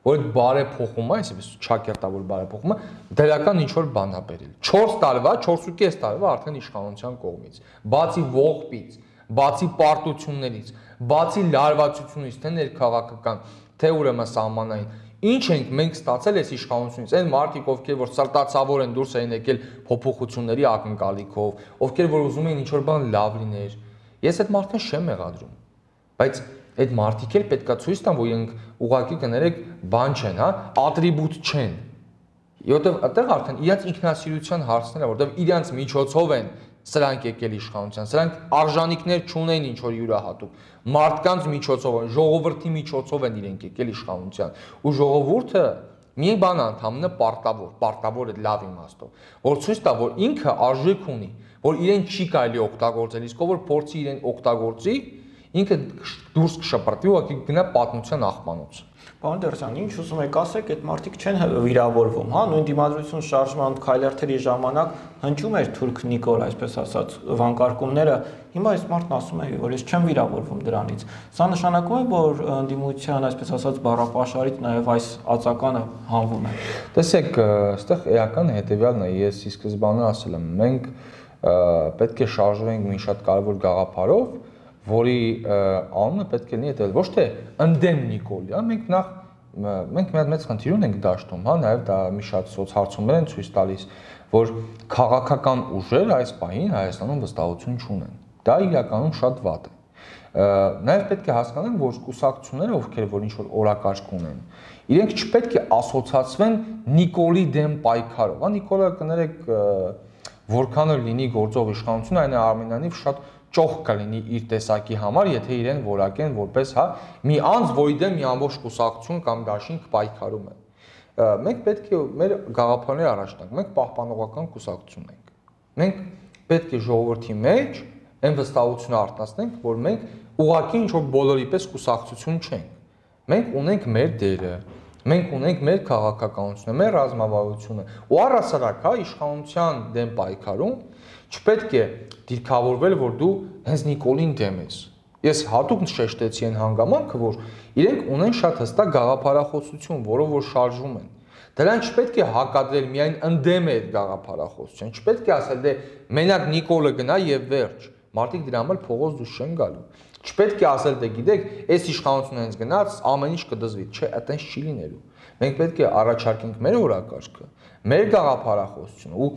որ այդ բարեփոխումը, այսպես ճակերտավոր բարեփոխումը դրական ինչ որ բան է բերել։ 4 տարվա, 4.5 տարվա արդեն իշխանության կողմից, բացի ողբից, բացի պարտություններից, բացի լարվածությունից, թե ներքաղաքական, թե ուրեմն սահմանային, ինչ ենք մենք ստացել այս իշխանությունից, այն մարդիկ, ովքեր որ սրտացավոր են դուրս են եկել փոփոխությունների ակնկալիքով, ովքեր որ ուզում են ինչ որ բան լավ լիներ, ես այդ մարդուն չեմ մեղադրում, բայց այդ մարդիկ էլ պետքա ցույց տան, որ իրենք ուղղակի կներեք բան չեն, հա, ատրիբուտ չեն։ Որտեվ այդտեղ արդեն իրենց ինքնասիրության հարցներ է, որտեվ իրենց միջոցով են սրանք եկել իշխանության, սրանք արժանինքներ չունեն ինչ որ յուրահատուկ, մարդկանց միջոցով են, ժողովրդի միջոցով են իրենք եկել իշխանության, ու ժողովուրդը մի բան անդամն է պարտավոր է լավ իմաստով, որ ցույց տա, որ ինքը արժեք ունի, որ իրեն չի կարելի օգտագործել, իսկ ով որ փորձի իրեն օգտագործի, ինքը դուրս կշպրտվի, ուղղակի գնա պատմության աղբանոց։ Պարոն Տեր-ջան, ինչ ուզում եք ասեք, այդ մարդիկ չեն վիրավորվում, հա, նույն դիմադրություն շարժման քայլերթերի ժամանակ հնչում էր թուրք Նիկոլ, այսպես ասած, վանկարկումները, հիմա այս մարդն ասում է, որ ես չեմ վիրավորվում դրանից։ Սա նշանակում է, որ ընդդիմության, այսպես ասած, բառապաշարից նաև այս ածականը հանվում է։ Տեսեք, այստեղ էական հետևյալն է, ես ի սկզբանե ասել եմ, մենք պետք է շարժվենք մի շատ կարևոր գաղափարով, որի անունը պետք է լինի այդպես, ոչ թե ընդդեմ Նիկոլի, հա, մենք մի հատ մեծ խնդիր ունենք դաշտում, հա, նաև դա մի շատ սոցհարցումներ են ցույց տալիս, որ քաղաքական ուժեր այս պահին Հայաստանում վստահություն չունեն։ Դա իրականում շատ վատ է։ Նաև պետք է հասկանանք, որ կուսակցությունները, ովքեր որ ինչ-որ օրակարգ ունեն, իրենք չպետք է ասոցացվեն Նիկոլի դեմ պայքարով, հա, Նիկոլը կներեք, որքան էլ լինի գործող իշխանություն, այն Արմենիանիվ շատ ճոխ կլինի իր տեսակի համար, եթե իրեն որակեն որպես, հա, մի անձ, որի դեմ մի ամբողջ կուսակցություն կամ դաշինք պայքարում է։ Մենք պետք է մեր գաղափարները առաջ տանք, մենք պահպանողական կուսակցություն ենք։ Մենք պետք է ժողովրդի մեջ այն վստահությունը արտացնենք, որ մենք ուղղակի ինչ-որ բոլորի պես կուսակցություն չենք։ Մենք ունենք մեր դերը, մենք ունենք մեր քաղաքականությունը, մեր ռազմավարությունը, ու առհասարակ, հա, իշխանության դեմ պայքարում չպետք է դիրքավորվել, որ դու հենց Նիկոլին դեմ ես։ Ես հատուկ շեշտեցի այն հանգամանքը, որ իրենք ունեն շատ հստակ գաղափարախոսություն, որով որ շարժվում են։ Դրան չպետք է հակադրել միայն ընդդեմ է այդ գաղափարախոսության, չպետք է ասել դե մենակ Նիկոլը գնա եւ վերջ։ Մարդիկ դրա համար փողոց դուրս չեն գալու։ Չպետք է ասել դե գիտեք, այս իշխանությունը հենց գնաց, ամեն ինչ կդզվի, չէ, այտենց չի լինելու։ Մենք պետք է առաջարկենք մեր օրակարգը, մեր գաղափարախոսությունը ու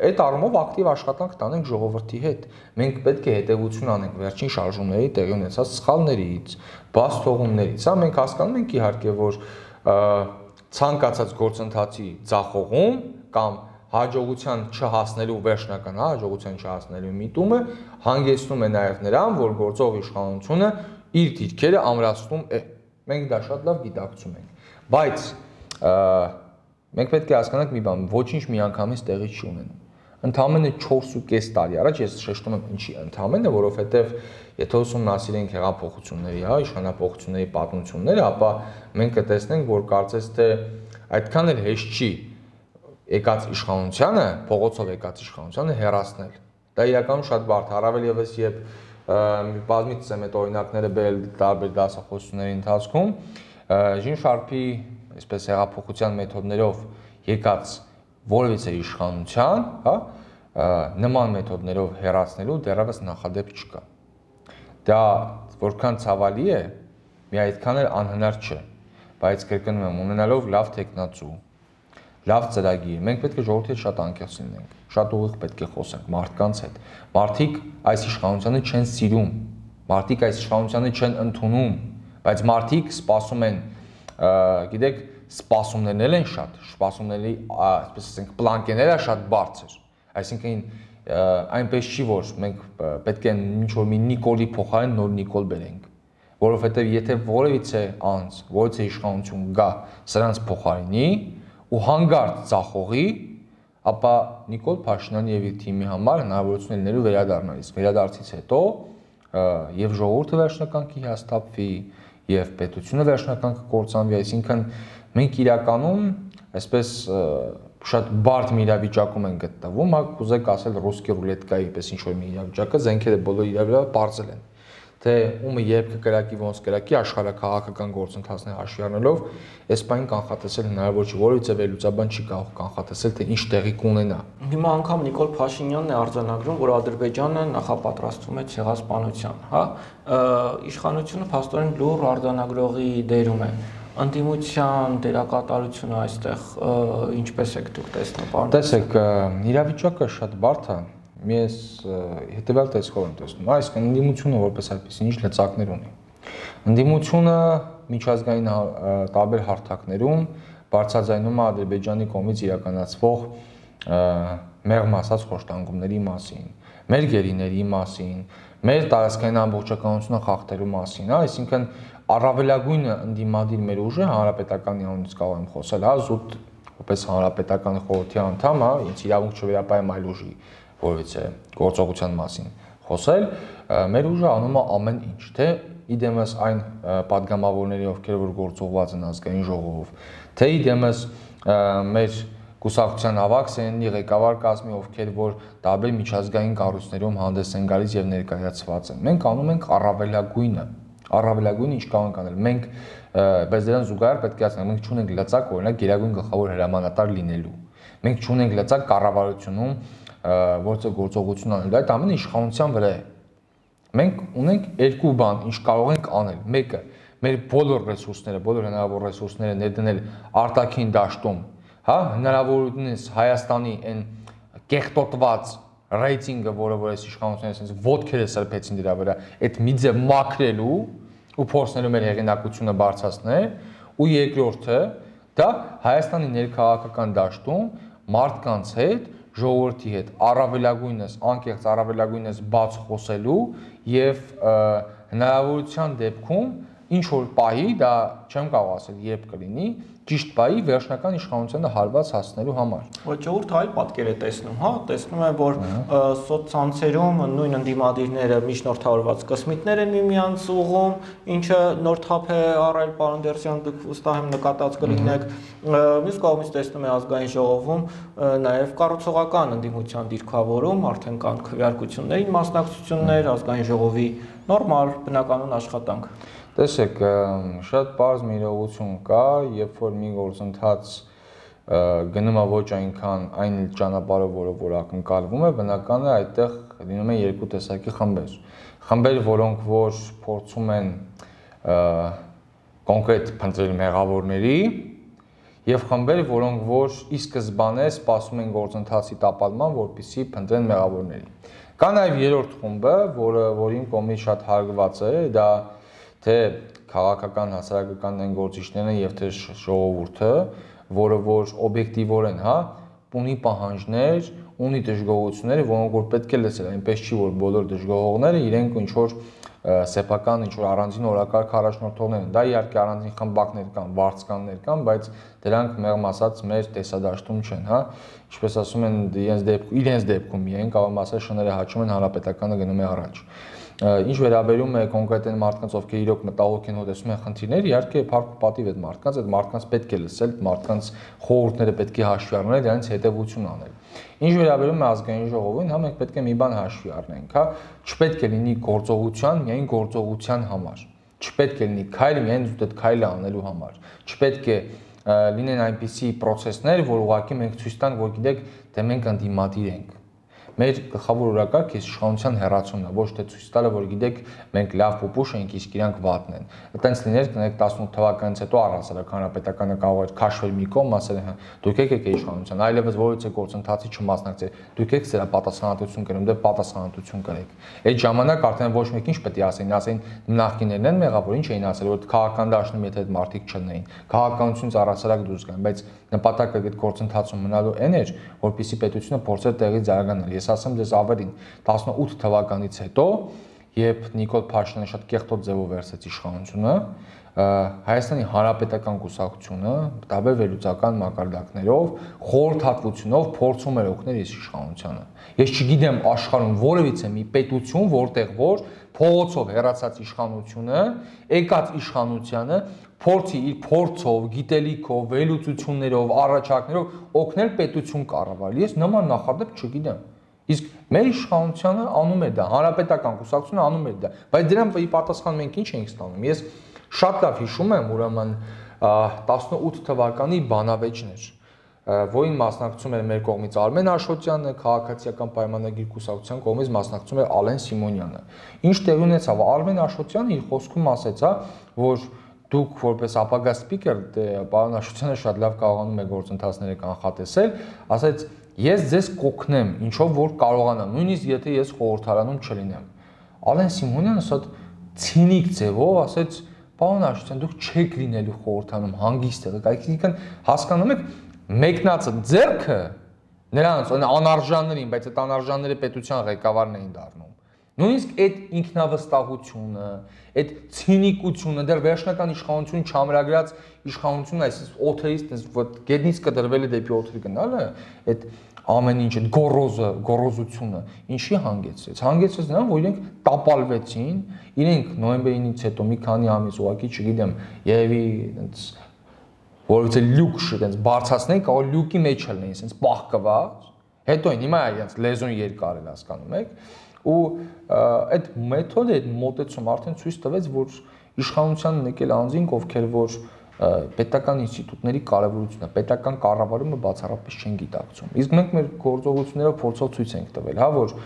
այդ առումով ակտիվ աշխատանք տանենք ժողովրդի հետ։ Մենք պետք է հետևություն անենք վերջին շարժումների տեղի ունեցած սխալներից, բաց թողումներից։ Սա մենք հասկանում ենք իհարկե, որ ցանկացած գործընթացի ձախողում կամ հաջողության չհասնելու վերջնական հաջողության չհասնելու միտումը հանգեցնում է նաև նրան, որ գործող իշխանությունը իր դիրքերը ամրացնում է։ Մենք դա շատ լավ գիտակցում ենք։ Բայց մենք պետք է հասկանանք մի բան, ոչինչ միանգամից տեղի չի ունենում։ Ընդամենը 4.5 տարի առաջ ես շեշտում եմ ինչի ընդամենը, որովհետև եթե ուսումնասիրենք հեղափոխությունների, հա, իշխանապողությունների պատմությունները, ապա մենք կտեսնենք, որ կարծես թե այդքան էլ հեշտ չի եկած իշխանությանը, փողոցով եկած իշխանությանը հեռացնել։ Դա իրականում շատ բարդ, առավել եւս երբ բազմիցս եմ այդ օրինակները բերել տարբեր դասախոսությունների ընթացքում, Ժին Շարփի, այսպես հեղափոխության մեթոդներով եկած որևիցե իշխանության, հա, նման մեթոդներով հեռացնելու դեռևս նախադեպ չկա։ Դա որքան ցավալի է, մի այդքան էլ անհնար չէ, բայց կրկնում եմ, ունենալով լավ տեխնացու, լավ ծրագիր, մենք պետք է ժողովրդի հետ շատ անկեղծ լինենք, շատ ուղիղ պետք է խոսենք մարդկանց հետ։ Մարդիկ այս իշխանությանը չեն սիրում, մարդիկ այս իշխանությանը չեն ընդունում, բայց մարդիկ սպասում են, գիտեք, սպասումներն էլ են շատ, սպասումների, այսպես ասենք, պլանկեները շատ բարձր։ Այսինքն այնպես չի, որ մենք պետք է ինչ-որ մի Նիկոլի փոխարեն նոր Նիկոլ բերենք, որովհետև եթե որևիցե անձ, որևիցե իշխանություն գա սրանց փոխարինի ու հանգարտ ծախողի, ապա Նիկոլ Փաշինյանի եւ իր թիմի համար հնարավորություն լինելու վերադառնալիս։ Վերադարձից հետո եւ ժողովուրդը վերջնական կհիասթափվի եւ պետությունը վերջնական կկործանվի, այսինքն մենք իրականում այսպես շատ բարդ մի իրավիճակում են գտնվում, հա կուզեք ասել ռուսկի ռուլետկայի պես ինչ որ մի իրավիճակը, զենքերը բոլոր իրավիճակը բարձել են։ Թե ումը երբ կկրակի ոնց կրակի աշխարհակաղակական գործընթացներ հաշվի առնելով, այս բանին կանխատեսել հնարավոր չի, որովհետեւ վերլուծաբան չի կարող կանխատեսել թե ինչ տեղի կունենա։ Հիմա անգամ Նիկոլ Փաշինյանն է արձանագրում, որ Ադրբեջանը նախապատրաստվում է ցեղասպանության, հա, իշխանությունը փաստորեն լուր արձանագրողի դերում է։ Անդիմության դերակատարությունը այստեղ ինչպես եք դուք տեսնում, պարոն։ Տեսեք, իրավիճակը շատ բարդ է։ Ես հետևյալ տեսքով եմ տեսնում, այսինքն ընդդիմությունը որպես այդպեսին ինչ լծակներ ունի։ Ընդդիմությունը միջազգային տարբեր հարթակներում բարձրաձայնում է Ադրբեջանի կողմից իրականացվող մեղմ ասած խոշտանգումների մասին, մեր գերիների մասին, մեր տարածքային ամբողջականությունը խախտելու մասին, հա, այսինքն առավելագույնը ընդդիմադիր մեր ուժը հանրապետականի անունից կարող եմ խոսել, հա, զուտ որպես հանրապետական խորհրդի անդամ, հա, ինձ իրավունք չվերապահեմ այլ ուժի որովհետեւ գործողության մասին խոսել, մեր ուժը անում է ամեն ինչ, թե իդեմս այն падգամավորների, ովքեր որ գործողված են ազգային ժողովով, թե իդեմս մեր կուսակցության ավակ սենյակի ղեկավար կազմի, ովքեր որ տարբեր միջազգային կառույցներում հանդես են գալիս եւ ներկայացված են։ Մենք անում ենք առավելագույնը ինչ կարող ենք անել։ Մենք բայց դրան զուգահեռ պետք է ասենք, մենք չունենք լծակ օրինակ գերագույն գլխավոր հրամանատար լինելու։ Մենք չունենք լծակ կառավարությունում որը գործողություն անել, այդ ամենը իշխանության վրա է։ Մենք ունենք երկու բան, ինչ կարող ենք անել։ Մեկը մեր բոլոր ռեսուրսները, բոլոր հնարավոր ռեսուրսները ներդնել արտաքին դաշտում, հա, հնարավորությունից Հայաստանի այն կեղտոտված ռեյտինգը, որը որ այս իշխանությունները այսպես ոդքերը սրբեցին դրա վրա, այդ մի ձև մաքրելու ու փորձնելու մեր հեղինակությունը բարձրացնել, ու երկրորդը դա Հայաստանի ներքաղաքական դաշտում մարդկանց հետ ժողովրդի հետ առավելագույնս անկեղծ առավելագույնս բաց խոսելու եւ հնարավորության դեպքում ինչ որ պահի դա չեմ կարող ասել երբ կլինի ճիշտ պահի վերջնական իշխանությանը հարված հասնելու համար։ Ոչ ժողովուրդը այլ պատկեր է տեսնում, հա, տեսնում է որ սոցցանցերում նույն ընդդիմադիրները միջնորդավորված կսմիտներ են միմյանց ուղում, ինչը նոր թափ է առել պարոն Դերսյան, դուք վստահ եմ նկատած կլինեք, մյուս կողմից տեսնում է ազգային ժողովում նաև կառուցողական ընդդիմության դիրքավորում, արդեն կան քվեարկությունների մասնակցություններ, ազգային ժողովի նորմալ բնականon աշխատանք։ Տեսեք, շատ պարզ մի իրողություն կա, երբ որ մի գործընթաց գնում է ոչ այնքան այն ճանապարհով, որ ակնկալվում է, բնական է այդտեղ լինում են երկու տեսակի խմբեր։ Խմբեր, որոնք որ փորձում են կոնկրետ փնտրել մեղավորների, եւ խմբեր, որոնք որ ի սկզբանե սպասում են գործընթացի տապալման, որպեսզի փնտրեն մեղավորների։ Կա նաեւ երրորդ խումբը, որին կողմից շատ հարգված է, դա թե քաղաքական հասարակական են գործիչներն եւ թե ժողովուրդը, որը որ օբյեկտիվորեն, հա, ունի պահանջներ, ունի դժգոհություններ, որոնք որ պետք է լսել, այնպես չի որ բոլոր դժգոհողները իրենք ինչ որ սեփական ինչ որ առանձին օրակարգ առաջնորդողներ են։ Դա իհարկե առանձին խմբակներ կան, վարձկաններ կան, բայց դրանք մեղմ ասած մեր տեսադաշտում չեն, հա։ Ինչպես ասում են, իրենց դեպքում միայն կարող եմ ասել շները հաճում են, հանրապետականը գնում է առաջ։ Ինչ վերաբերում է կոնկրետ այն մարդկանց, ովքեր իրոք մտահոգ են, հոտեսում են խնդիրներ, իհարկե փառք ու պատիվ այդ մարդկանց պետք է լսել, մարդկանց խորհուրդները պետք է հաշվի առնել, դրանից հետևություն անել։ Ինչ վերաբերում է ազգային ժողովին, հա մենք պետք է մի բան հաշվի առնենք, հա, չպետք է լինի գործողության, միայն գործողության համար։ Չպետք է լինի քայլ միայն զուտ այդ քայլը անելու համար։ Չպետք է լինեն այնպիսի process-ներ, որ ուղղակի մենք ցույց տանք, որ գիտեք, թե մենք ընդդիմադիր ենք։ Մեր գլխավոր օրակարգը իշխանության հեռացումն է, ոչ թե ցույց տալը, որ գիտեք, մենք լավ փոփուշ ենք, իսկ իրանք վատն են։ Այտենց լիներ, կներեք 18 թվականից հետո առհասարակ հանրապետականը կարող էր քաշվել մի կողմ, ասել, հա, դուք եկեք իշխանության, այլևս որևէ գործընթացի չմասնակցեք, դուք եք սրա պատասխանատվություն կրում, դե պատասխանատվություն կրեք։ Այդ ժամանակ արդեն ոչ մեկ ինչ պետք է ասեն նախկիներն են մեղավոր, ինչ էին ասել, որ քաղաքական դաշտում եթե այդ մարդիկ չլինեին, քաղաքականությունից առհասարակ դուրս գան, բայց նպատակը այդ գործընթացում մնալու այն էր, որպեսզի պետությունը փորձեր տեղից զարգանալ։ Ես ասեմ ձեզ ավելին, 18 թվականից հետո երբ Նիկոլ Փաշինյանը շատ կեղտոտ ձևով վերցրեց իշխանությունը, Հայաստանի Հանրապետական կուսակցությունը տարբեր վերլուծական մակարդակներով, խորհրդատվությունով փորձում էր օգնել իր իշխանությանը։ Ես չգիտեմ աշխարհում որևիցե մի պետություն, որտեղ որ փողոցով հեռացած իշխանությունը, եկած իշխանությանը փորձի իր փորձով, գիտելիքով, վերլուծություններով, առաջարկներով օգնել պետություն կառավարել։ Ես նման նախադեպ չգիտեմ։ Իսկ մեր իշխանությունը անում է դա, հանրապետական կուսակցությունը անում է դա, բայց դրան ի պատասխան մենք ինչ ենք ստանում։ Ես շատ լավ հիշում եմ, ուրեմն 18 թվականի բանավեճներ, որին մասնակցում էր մեր կողմից Արմեն Աշոտյանը, քաղաքացիական պայմանագիր կուսակցության կողմից մասնակցում էր Ալեն Սիմոնյանը։ Ինչ տեղի ունեցավ, Արմեն Աշոտյանը իր խոսքում ասեց, որ դուք որպես ապագա սպիկեր, պարոն Աշոտյանը շատ լավ կարողանում է գործընթացները կանխատեսել, ասեց ես ձեզ կօգնեմ, ինչով որ կարողանամ, նույնիսկ եթե ես խորհրդարանում չլինեմ։ Ալեն Սիմոնյանը շատ ցինիկ ձևով ասեց, պարոն Աշոտյան, դուք չեք լինելու խորհրդարանում հանգիստ եղեք, այսինքն հասկանում եք, մեկնածը ձեռքը նրանց անարժաններին, բայց այդ անարժանները պետության ղեկավարն էին դառնում։ Նույնիսկ այդ ինքնավստահությունը, այդ ցինիկությունը, դեռ վերջնական իշխանություն չամրագրած իշխանությունը, այսպես օթերից գետնից կդրվել է դեպի օթեր գնալը, այդ ամեն ինչ այդ գոռոզությունը ինչի հանգեցրեց։ Հանգեցրեց նրան, որ իրենք տապալվեցին, իրենք նոյեմբերի 9-ից հետո մի քանի ամիս ուղղակի, չգիտեմ, երևի այնց որովհետեւ լյուկ շենց բարձրացնեն, կարող լյուկի մեջ լինեն, այսպես պահկված։ Հետո հիմա իրենց լեզուն երկար էլ հասկանում եք, ու այդ մեթոդը, այդ մոտեցումը արդեն ցույց տվեց, որ իշխանությանն եկել անձինք, ովքեր որ պետական ինստիտուտների կարևորությունը, պետական կառավարումը բացառապես չեն գիտակցում։ Իսկ մենք մեր գործողություններով փորձով ցույց ենք տվել, հա, որ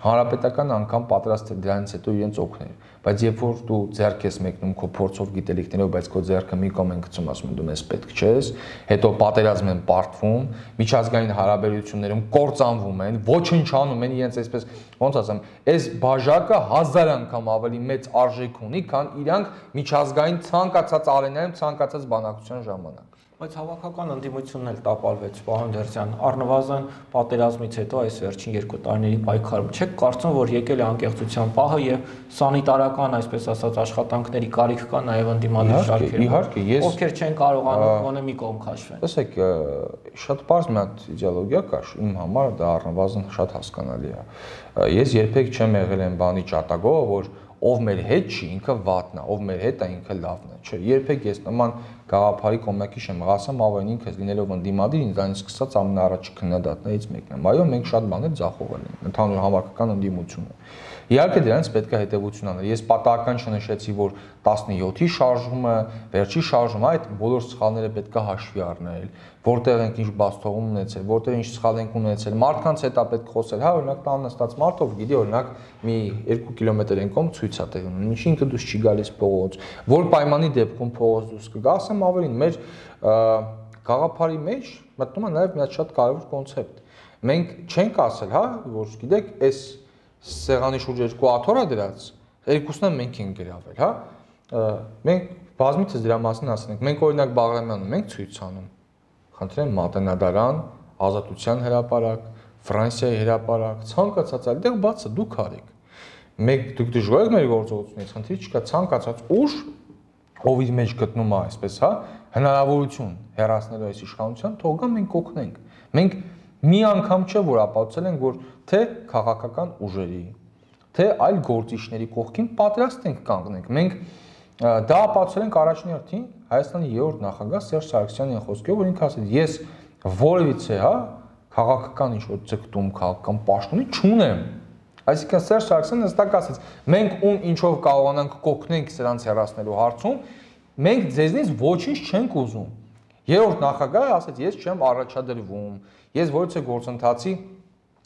հանրապետական անգամ պատրաստ է դրանից հետո իրենց օգնել, բայց երբ որ դու ձեռք ես մեկնում քո փորձով գիտելիքներով, բայց քո ձեռքը մի կողմ են գցում, ասում են դու մեզ պետք չես, հետո պատերազմ են պարտվում, միջազգային հարաբերություններում կործանվում են, ոչնչանում են, իրենց այսպես ոնց ասեմ, այս բաժակը 1000 անգամ ավելի մեծ արժեք ունի, քան իրանք միջազգային ցանկացած արենայում ցանկացած բանակցության ժամանակ։ Բայց հավաքական ընդդիմությունն էլ տապալվեց, պարոն Դերձյան, առնվազն պատերազմից հետո այս վերջին 2 տարիների պայքարում չեք կարծում, որ եկել է անկեղծության պահը եւ սանիտարական, այսպես ասած, աշխատանքների կարիք կա նաեւ ընդդիմադիր շարքերում։ Իհարկե, ես ովքեր չեն կարողանում գոնե մի կողմ քաշվեն։ Տեսեք, շատ པարզ մի հատ իդեոլոգիա կա, իմ համար դա առնվազն շատ հասկանալի է։ Ես երբեք չեմ եղել այն բանի ճատագով, որ ով մեր հետ չի, ինքը վատն է, ով մեր հետ է, ինքը լավն է։ Չէ, երբեք ես նման գաղափարի կողմնակի չեմ, ասեմ ավեն ինքս լինելով ընդդիմադիր, ինձանից սկսած ամենաառաջի քննադատներից մեկն եմ։ Այո, մենք շատ բաներ ձախողել ենք, ընդհանուր հավաքական ընդդիմությունը։ Իհարկե դրանից պետք է հետևություն անել։ Ես պատահական չնշեցի, որ 17-ի շարժումը, վերջի շարժումը, այդ բոլոր սխալները պետք է հաշվի առնել, որտեղ ենք ինչ բացթողում ունեցել, որտեղ ինչ սխալ ենք ունեցել, մարդկանց հետ է պետք խոսել, հա, օրինակ տան նստած մարդով գիտի, օրինակ մի 2 կիլոմետր են կողմ ցույց է տեղի ունենում, ինչի ինքը դուրս չի գալիս փողոց, որ պայմանի դեպքում փողոց դուրս կգա, ասեմ ավելին, մեր գաղափարի մեջ մտնում է նաև մի հատ շատ կարևոր կոնցեպտ։ Մենք չենք ասել, հա, որ գիտեք, այս սեղանի շուրջ 2 աթոռ է դրած, երկուսն էլ մենք ենք գրավել, հա։ Մենք բազմիցս դրա մասին ասել ենք, մենք օրինակ Բաղրամյանում ենք ցույց անում։ Խնդրեմ Մատենադարան, Ազատության հրապարակ, Ֆրանսիայի հրապարակ, ցանկացած այլտեղ բացը դուք արեք։ Մենք դուք դժվար եք մեր գործողությունից, խնդիր չկա, ցանկացած ուժ, ով իր մեջ գտնում է, այսպես, հա, հնարավորություն հեռացնելու այս իշխանության, թող գա մենք օգնենք։ Մենք մի անգամ չէ որ ապացուցել ենք, որ թե քաղաքական ուժերի, թե այլ գործիչների կողքին պատրաստ ենք կանգնենք։ Մենք դա ապացուցել ենք առաջին հերթին Հայաստանի 3-րդ նախագահ Սերժ Սարգսյանի խոսքով, որ ինքը ասեց, ես որևիցե, հա, քաղաքական ինչ-որ ձգտում, քաղաքական պաշտոնի չունեմ։ Այսինքն Սերժ Սարգսյանը հստակ ասեց, մենք ում ինչով կարողանանք կօգնենք սրանց հեռացնելու հարցում, մենք ձեզնից ոչինչ չենք ուզում։ 3-րդ նախագահը ասեց, ես չեմ առաջադրվում, ես որևէ գործընթացի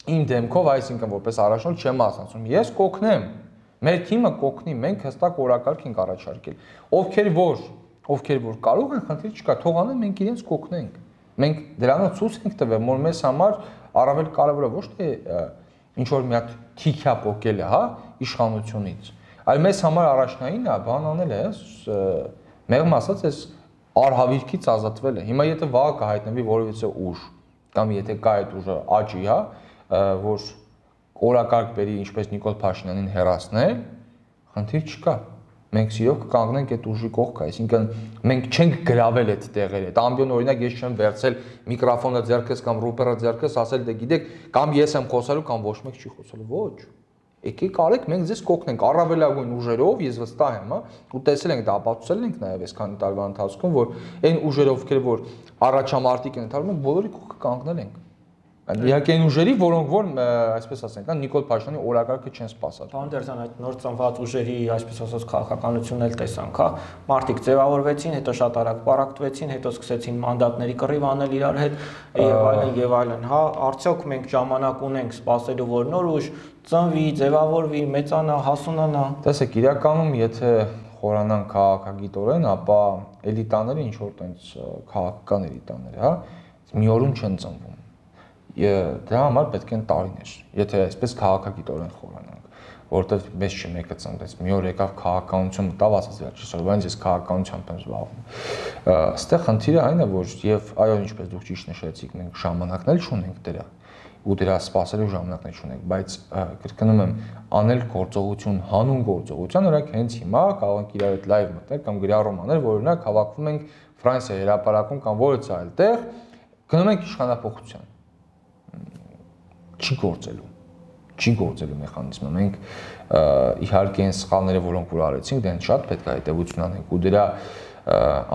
իմ դեմքով, այսինքն որպես առաջնորդ չեմ մասնակցում, ես կօգնեմ, մեր թիմը կօգնի, մենք հստակ օրակարգ ենք առաջարկել, ովքեր որ կարող են, խնդիր չկա, թող անեն, մենք իրենց կօգնենք, մենք դրանով ցույց ենք տվել, որ մեզ համար առավել կարևորը ոչ թե ինչ որ մի հատ թիքյա պոկելը, հա, իշխանությունից, այլ մեզ համար առաջնային է, բան անել է, մեղմ ասած, այս արհավիրքից ազատվել է։ Հիմա եթե վաղը կհայտնվի որևիցե ուժ, կամ եթե կա այդ ուժը աճի, հա, որ օրակարգ բերի ինչպես Նիկոլ Փաշինյանին հեռացնել, խնդիր չկա։ Մենք սիրով կկանգնենք այդ ուժի կողքը, այսինքն մենք չենք գրավել այդ տեղերը։ Այդ ամբիոն օրինակ ես չեմ վերցել միկրոֆոնը ձեռքս կամ ռուպերը ձեռքս, ասել դե գիտեք, կամ ես եմ խոսելու կամ ոչ մեկ չի խոսելու, ոչ։ Եկեք արեք, մենք ձեզ կօգնենք առավելագույն ուժերով, ես վստահ եմ, հա, ու տեսել ենք դա, ապացուցել ենք նաև այս քանի տարվա ընթացքում, որ այն ուժերով, ովքեր որ առաջամարտիկ են ընթանում, բոլորի կողքը կանգնել ենք։ Իհարկե այն ուժերի, որոնք որ այսպես ասենք, Նիկոլ Փաշինյանի օրակարգը չեն սպասել։ Պարոն Տերզյան, այդ նոր ծնված ուժերի, այսպես ասած, քաղաքականությունն էլ տեսանք, հա, մարդիկ ձևավորվեցին, հետո շատ արագ պարակտվեցին, հետո սկսեցին մանդատների կռիվ անել իրար հետ եւ այլն, հա, արդյոք մենք ժամանակ ունենք սպասելու, որ նոր ուժ ծնվի, ձևավորվի, մեծանա, հասունանա։ Տեսեք, իրականում եթե խորանան քաղաքագիտորեն, ապա էլիտաները ինչ որ տենց քաղաքական էլիտաներ, հա, մի օրում չեն ծնվում։ Դրա համար պետք են տարիներ, եթե այսպես քաղաքագիտորեն խորանանք, որովհետև մեզ չմեկը ծնվեց, մի օր եկավ քաղաքականություն մտավ, ասաց վերջի սովորաբար ես քաղաքականությամբ եմ զբաղվում։ Այստեղ խնդիրը այն է, որ եւ այո, ինչպես դուք ճիշտ նշեցիք, մենք ժամանակներ չունենք դրա ու դրա սպասելու ժամանակներ չունենք, բայց կրկնում եմ, անել գործողություն, հանուն գործողության, օրինակ հենց հիմա կարող ենք իրար հետ լայվ մտնել կամ գրառում անել, որ օրինակ հավաքվում ենք Ֆրանսիայի հրապարակում կամ որից այլ տեղ, գնում ենք իշխանապողության։ Չի գործելու մեխանիզմը։ Մենք իհարկե այն սխալները, որոնք որ արեցինք, դեն շատ պետք է հետևություն անենք ու դրա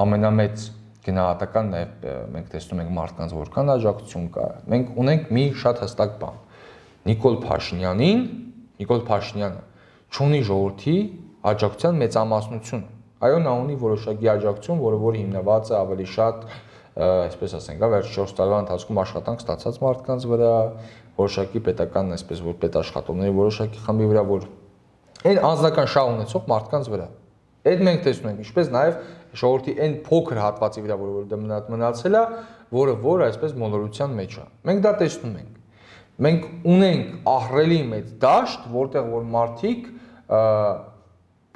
ամենամեծ գնահատական նաև մենք տեսնում ենք մարդկանց որքան աջակցություն կա։ Մենք ունենք մի շատ հստակ բան։ Նիկոլ Փաշինյանը չունի ժողովրդի աջակցության մեծամասնություն։ Այո, նա ունի որոշակի աջակցություն, որը որ հիմնված է ավելի շատ, այսպես ասենք, վերջ 4 տարվա ընթացքում աշխատանք ստացած մարդկանց վրա, որոշակի պետական, այսպես որ պետաշխատողների որոշակի խմբի վրա, որ այն անձնական շահ ունեցող մարդկանց վրա։ Այդ մենք տեսնում ենք, ինչպես նաև ժողովրդի այն փոքր հատվածի վրա, որ դա մնացել է, որը այսպես մոլորության մեջ է։ Մենք դա տեսնում ենք։ Մենք ունենք ահռելի մեծ դաշտ, որտեղ որ մարդիկ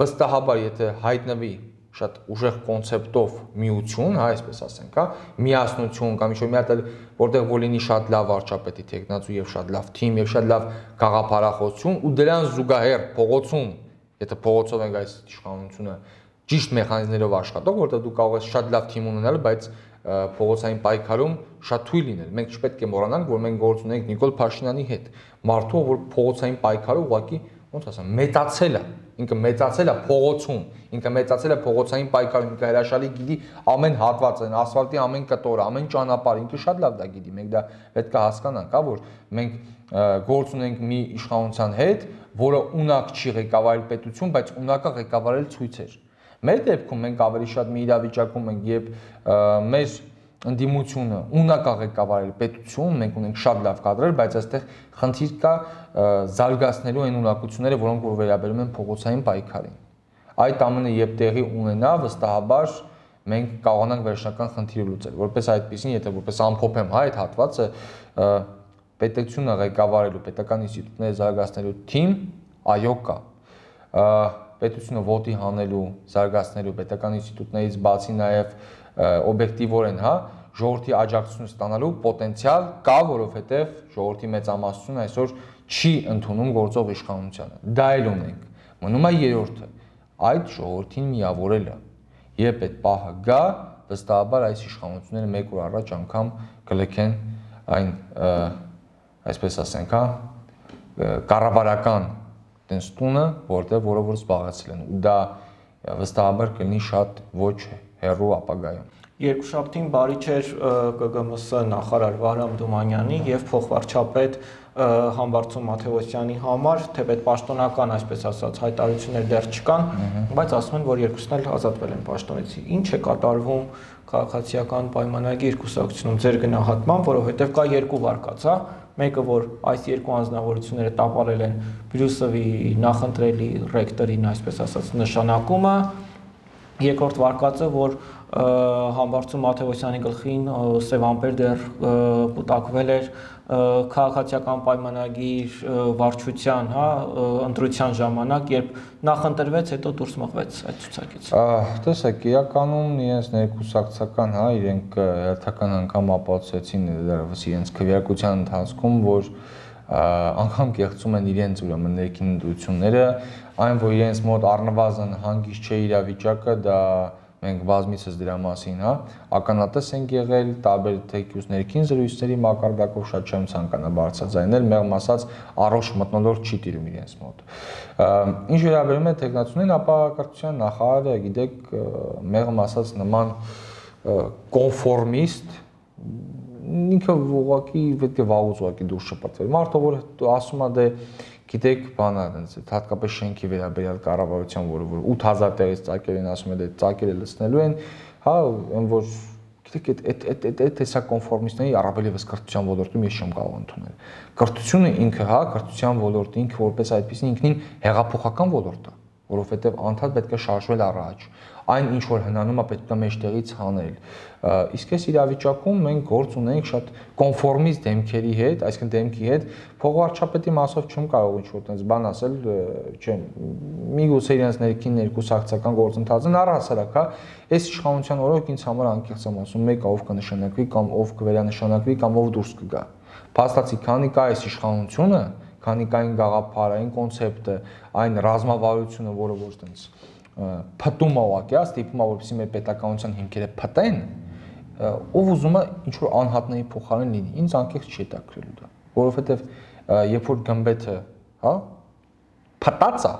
վստահաբար, եթե հայտնվի շատ ուժեղ կոնցեպտով միություն, հա, այսպես ասենք, հա, միասնություն կամ ինչ-որ մի հատ որտեղ որ լինի շատ լավ վարչապետի տեխնացու եւ շատ լավ թիմ եւ շատ լավ գաղափարախոսություն ու դրան զուգահեռ փողոցում, եթե փողոցով ենք այս իշխանությունը ճիշտ մեխանիզմներով աշխատող, որտեղ դու կարող ես շատ լավ թիմ ունենալ, բայց փողոցային պայքարում շատ թույլ լինել։ Մենք չպետք է մոռանանք, որ մենք գործ ունենք Նիկոլ Փաշինյանի հետ, մարդու, որ փողոցային պայքարը ուղղակի, ոնց ասեմ, մեծացել է, ինքը մեծացել է փողոցում, ինքը մեծացել է փողոցային պայքարում, ինքը հրաշալի գիտի ամեն հատվածը, ասֆալտի ամեն կտորը, ամեն ճանապարհ, ինքը շատ լավ դա գիտի։ Մենք դա պետք է հասկանանք, հա, որ մենք գործ ունենք մի իշխանության հետ, որը ունակ չի ղեկավարել պետություն, բայց ունակա ղեկավարել ցույցեր։ Մեր դեպքում մենք ավելի շատ մի իրավիճակում ենք, երբ մեր ընդդիմությունը ունակ է ղեկավարել պետություն, մենք ունենք շատ լավ կադրեր, բայց այստեղ խնդիր կա զարգացնելու այն ունակությունները, որոնք որ վերաբերում են փողոցային պայքարին։ Այդ ամենը երբ տեղի ունենա, վստահաբար մենք կարողանանք վերջնական խնդիրը լուծել։ Որպես այդպեսին, եթե որպես ամփոփ եմ, հա, այդ հատվածը պետությունը ղեկավարելու, պետական ինստիտուտները զարգացնելու թիմ, այո, կա։ Պետությունը ոտի հանելու, զարգացնելու պետական ինստիտուտներից բացի նաև օբյեկտիվորեն, հա, ժողովրդի աջակցություն ստանալու պոտենցիալ կա, որովհետև ժողովրդի մեծամասնությունն այսօր չի ընդունում գործող իշխանությանը։ Դա էլ ունենք։ Մնում է երրորդը, այդ ժողովրդին միավորելը։ Երբ այդ պահը գա, վստահաբար այս իշխանությունները մեկ օր առաջ անգամ կլքեն այն, այսպես ասենք, հա, կառավարական տենց տունը, որը որ զբաղեցել են, ու դա վստահաբար կլինի շատ ոչ հեռու ապագայում։ Երկուշաբթին բարի չէր ԿԳՄՍ նախարար Վահրամ Թումանյանի եւ փոխվարչապետ Համբարձում Մաթեոսյանի համար, թեպետ պաշտոնական, այսպես ասած, հայտարարություններ դեռ չկան, բայց ասում են, որ երկուսն էլ ազատվել են պաշտոնից։ Ինչ է կատարվում քաղաքացիական պայմանագիր կուսակցությունում ձեր գնահատմամբ, որովհետեւ կա երկու վարկած, հա, մեկը որ այս երկու անձնավորությունները տապալել են Բրյուսովի նախընտրելի ռեկտորին, այսպես ասած, նշանակումը, երկրորդ վարկածը, որ Համբարձում Մաթեոսյանի գլխին սև ամպեր դեռ կուտակվել էր քաղաքացիական պայմանագիր վարչության, հա, ընտրության ժամանակ, երբ նախընտրվեց, հետո դուրս մղվեց այդ ցուցակից։ Տեսեք, իրականում իրենց ներկուսակցական, հա, իրենք հերթական անգամ ապացուցեցին դեռևս իրենց քվեարկության ընթացքում, որ անգամ կեղծում են իրենց ուրեմն ներքին ընտրությունները, այն որ իրենց մոտ առնվազն հանգիստ չէ իրավիճակը, դա մենք բազմիցս դրա մասին, հա, ականատես ենք եղել, տարբեր թեկուզ ներքին զրույցների մակարդակով շատ չեմ ցանկանա բարձրաձայնել, մեղմ ասած առողջ մթնոլորտ չի տիրում իրենց մոտ։ Ինչ վերաբերում է տեխնացուներին, ապա կրթության նախարարը, գիտեք, մեղմ ասած նման կոնֆորմիստ ինքը ուղղակի պետք է վաղուց ուղղակի դուրս շպրտվել։ Մարդը որ ասում է դե գիտեք բանա այնց հատկապես շենքի վերաբերյալ կառավարության, որը 8000 տեղից ծակեր են ասում է դե ծակերը լցնելու են, հա, այն որ գիտեք այդ տեսակ կոնֆորմիստների առավել եւս կրթության ոլորտում ես չեմ կարող ընդունել։ Կրթությունը ինքը, հա, կրթության ոլորտը ինքը որպես այդպեսին ինքնին հեղափոխական ոլորտ է, որովհետեւ անդադ պետք է շարժվել առաջ։ Այն ինչ որ հնանում է պետք է մեջտեղից հանել։ Իսկ այս իրավիճակում մենք գործ ունենք շատ կոնֆորմիստ դեմքերի հետ, այսինքն դեմքի հետ, փոխվարչապետի մասով չեմ կարող ինչ որ տենց բան ասել, չեմ։ Միգուցե իրենց ներքին ներկուսակցական գործընթացն առհասարակ, հա, այս իշխանության օրոք ինձ համար անկեղծ եմ ասում, մեկը ով կնշանակվի կամ ով կվերանշանակվի կամ ով դուրս կգա։ Փաստացի քանի կա այս իշխանությունը, քանի կա այն գաղափարը, այն կոնցեպտը, այն ռազմավարությունը, որը ոչ տենց փտում է ուղղակի, ստիպում է որպեսզի մեր պետականության հիմքերը փտեն, ով ուզում է ինչ որ անհատների փոխարեն լինի, ինձ անկեղծ չի հետաքրքրելու դա, որովհետև երբ որ գմբեթը, հա, փտած է,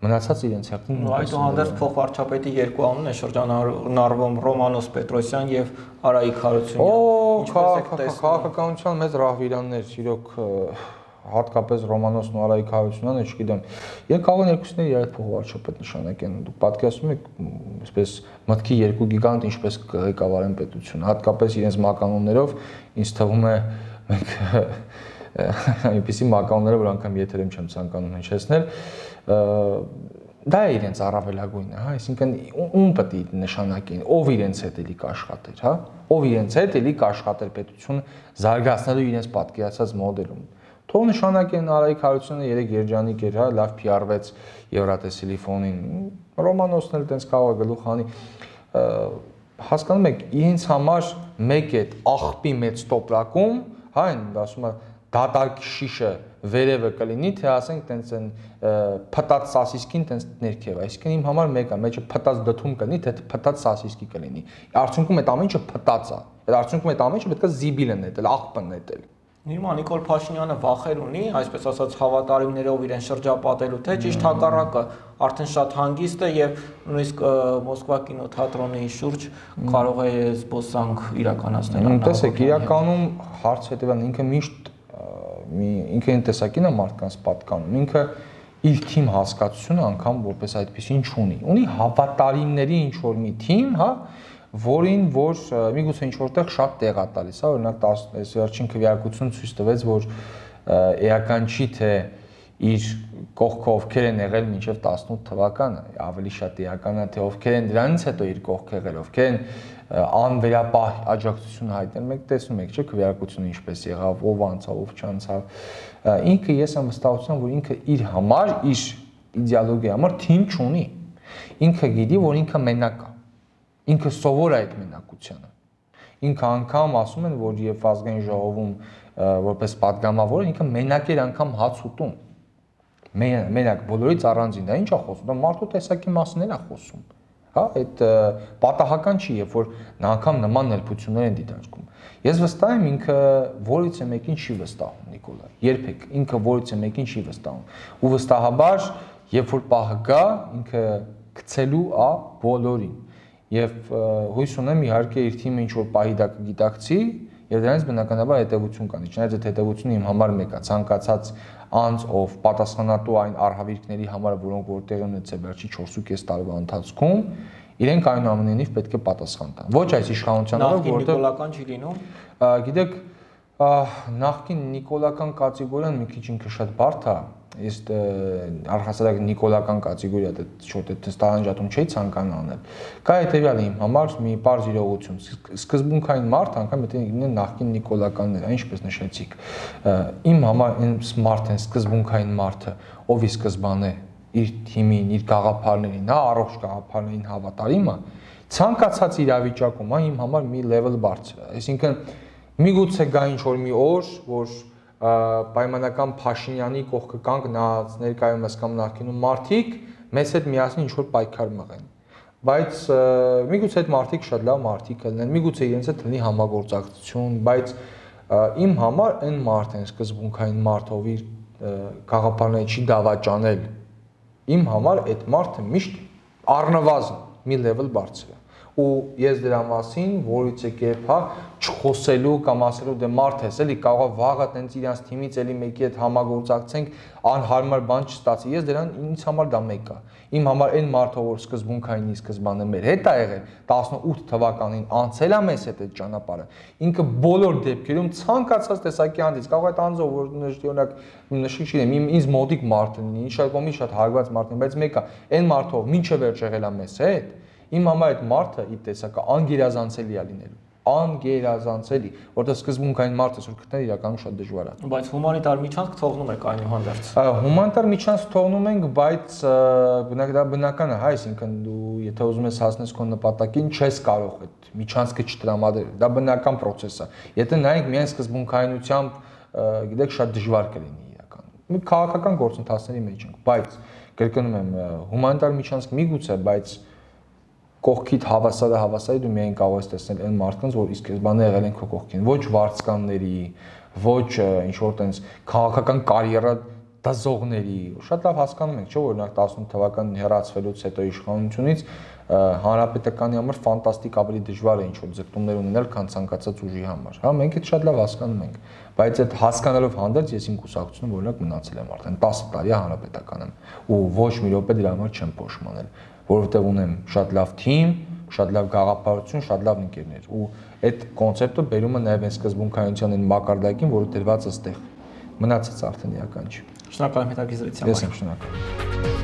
մնացած իրենց հերթին այդուհանդերձ փոխվարչապետի երկու անուն է շրջանառվում Ռոմանոս Պետրոսյան եւ Արայիկ Հարությունյան։ Ինչպես եք տեսնում, քաղաքականության մեծ ռահվիրաններ, իրոք հատկապես Ռոմանոսն ու Արայիկ Հարությունյանը, չգիտեմ, եւ կարող են երկուսները իրար փոխվարչապետ նշանակեն։ Դուք պատկերացնում եք, այսպես մտքի երկու գիգանտ ինչպես ղեկավարեն պետությունը, հատկապես իրենց մականուններով, ինձ թվում է մենք այնպիսի մականունները, որ անգամ եթերում չեմ ցանկանում հնչեցնել, դա է իրենց առավելագույնը, հա, այսինքն ում պետք է նշանակեն, ով իրենց հետ էլի կաշխատեր, հա, ով իրենց հետ էլի կաշխատեր պետություն զարգացնելու իրենց պատկերացած մոդելում։ Թող նշանակեն Արայիկ Հարությունյանը 3 երջանիկ էր, հա, լավ PR-վեց Եվրատեսիլի ֆոնին, Ռոմանոսն էլ տենց կարող է գլուխ հանի, հասկանում եք, իրենց համար մեկ է աղբի մեծ տոպրակում, հա, ասում է դատարկ շիշը վերևը կլինի, թե ասենք տենց են փտած սասիսկին տենց ներքև, այսինքն իմ համար մեկ է, մեջը փտած դդում կլինի, թե փտած սասիսկի կլինի։ Արդյունքում այդ ամեն ինչը փտած է։ Այդ արդյունքում այդ ամեն ինչը պետք է զիբիլ են նետել, աղբը նետել։ Հիմա Նիկոլ Փաշինյանը վախեր ունի, այսպես ասած հավատարիմներով իրեն շրջապատելու, թե ճիշտ հակառակը, արդեն շատ հանգիստ է եւ նույնիսկ Մոսկվա կինոթատրոնի շուրջ կարող է զբոսանք իրականացնել։ Տեսեք, իրականում հարց հետեւան ինքը միշտ ինքը այն տեսակին է մարդկանց պատկանում, ինքը իր թիմ հասկացությունը անգամ որպես այդպեսին չունի։ Ունի հավատարիմների ինչ որ մի թիմ, հա, որին որ միգուցե ինչ որտեղ շատ տեղ է տալիս, հա, օրինակ այս վերջին քվեարկությունը ցույց տվեց, որ էական չի թե իր կողքը ովքեր են եղել մինչև 18 թվականը, ավելի շատ էական է թե ովքեր են դրանից հետո իր կողքը եղել, ովքեր են անվերապահ աջակցություն հայտնել, մենք տեսնում ենք, չէ՞, քվեարկությունը ինչպես եղավ, ով անցավ, ով չանցավ։ Ինքը ես եմ վստահություն, որ ինքը իր համար, իր իդեալոգիայի համար թիմ չունի։ Ինքը գիտի, որ ինքը մենակ է։ Ինքը սովոր է այդ մենակությանը։ Ինքը անգամ ասում են, որ եւ ազգային ժողովում որպես падգամավոր ինքը մենակ էր անգամ հաց ուտում։ Մենակ բոլորից առանձին, դա ի՞նչ է խոսում, դա մարդու տեսակի մասներ է խոսում։ Հա, այդ պատահական չի, երբ որ նա անգամ նման ներբություններ են դիտարկում։ Ես վստահ եմ ինքը որից է մեկին չի վստահում Նիկոլա։ Երբեք ինքը որից է մեկին չի վստահում։ Ու վստահաբար, երբ որ պահը գա, ինքը գցելու է բոլորին։ Եվ հույս ունեմ իհարկե իր թիմը ինչ որ պահի դա կգիտակցի եւ դրանից բնականաբար հետեւություն կանի։ Չնայած այդ հետեւությունը իմ համար մեկ է, ցանկացած անձ ով պատասխանատու այն արհավիրքների համար, որոնք որտեղ են ունեցել վերջի 4.5 տարվա ընթացքում, իրենք այնուամենայնիվ պետք է պատասխան տան։ Ոչ այս իշխանությանով, որտեղ նիկոլական չի լինում։ Գիտեք, նախկին նիկոլական կատեգորիան մի քիչ ինքը շատ բարդ է։ Ես առհասարակ նիկոլական կատեգորիա դա շոտ է տարանջատում չի ցանկանա անել։ Կա հետեւյալը իմ համար մի բարձ իրողություն։ Սկզբունքային մարդ անգամ եթե ինքնին նախկին նիկոլականներ, ինչպես նշեցիք։ Իմ համար այն մարդ են սկզբունքային մարդը, ով ի սկզբանե իր թիմին, իր գաղափարներին, հա, առողջ գաղափարներին հավատարիմ է, ցանկացած իրավիճակում, հա, իմ համար մի level բարձր է։ Այսինքն միգուցե գա ինչ որ մի օր, որ պայմանական Փաշինյանի կողքը կանգնած ներկայումս կամ նախկինում մարդիկ մեզ հետ միասին ինչ որ պայքար մղեն։ Բայց միգուցե այդ մարդիկ շատ լավ մարդիկ լինեն, միգուցե իրենց հետ լինի համագործակցություն, բայց իմ համար այն մարդն է սկզբունքային մարդ, ով իր գաղափարները չի դավաճանել։ Իմ համար այդ մարդը միշտ առնվազն մի level բարձր է։ Ու ես դրա մասին որից եկեփ, հա, չխոսելու կամ ասելու դե մարդ ես, էլի կարող է վաղը տենց իրանց թիմից էլի մեկի հետ համագործակցենք, անհարմար բան չստացի։ Ես դրան ինձ համար դա մեկ է։ Իմ համար այն մարդը, որ սկզբունքային սկզբանը մեր հետ ա եղել 18 թվականին անցել է մեզ հետ այդ ճանապարհը, ինքը բոլոր դեպքերում ցանկացած տեսակի անձից կարող է այդ անձը, որ օրինակ նշի չգիտեմ, ինձ մոդիկ մարդ լինի, շատ կողմից շատ հարված մարդ լինի, բայց մեկը այն մարդը, ով մինչև վերջ եղել է մեզ հետ, իմ համար այդ մարդը ի տեսակը անգերազանցելի է լինելու, անգերազանցելի, որտեղ սկզբունքային մարդը որ գտնել իրականում շատ դժվար է։ Բայց հումանիտար միջանցք թողնում եք այնուհանդերձ։ Հումանիտար միջանցք թողնում ենք, բայց դա բնական է, հա, այսինքն դու եթե ուզում ես հասնես քո նպատակին, չես կարող այդ միջանցքը չտրամադրել։ Դա բնական process է։ Եթե նայենք միայն սկզբունքայնությամբ, գիտեք, շատ դժվար կլինի իրականում։ Մի քաղաքական գործընթացների մեջ ենք, բայց կրկնում եմ, հումանիտար միջանցք միգուցե, բայց կողքիդ հավասարը դու միայն կարող ես տեսնել այն մարդկանց, որ իսկ բանը եղել են քո կողքին, ոչ վարձկանների, ոչ ինչ որ տենց քաղաքական կարիերա դզողների, շատ լավ հասկանում ենք, չէ՞ որ օրինակ 18 թվականին հեռացվելուց հետո իշխանությունից հանրապետականի համար ֆանտաստիկ ավելի դժվար է ինչ որ ձգտումներ ունենալ, քան ցանկացած ուժի համար, հա, մենք այդ շատ լավ հասկանում ենք, բայց այդ հասկանալով հանդերձ ես իմ կուսակցությունը օրինակ մնացել եմ արդեն 10 տարի հանրապետականում ու ոչ մի րոպե դրա համար չեմ փոշմանել, որովհետև ունեմ շատ լավ թիմ, շատ լավ գաղափարություն, շատ լավ ընկերներ ու այդ կոնցեպտը բերում է նաև այն սկզբունքայնության այն մակարդակին, որը դրված է այստեղ։ Մնացած արդեն իրական չի։ Շնորհակալ եմ հետաքրքրության համար։ Ես եմ շնորհակալ։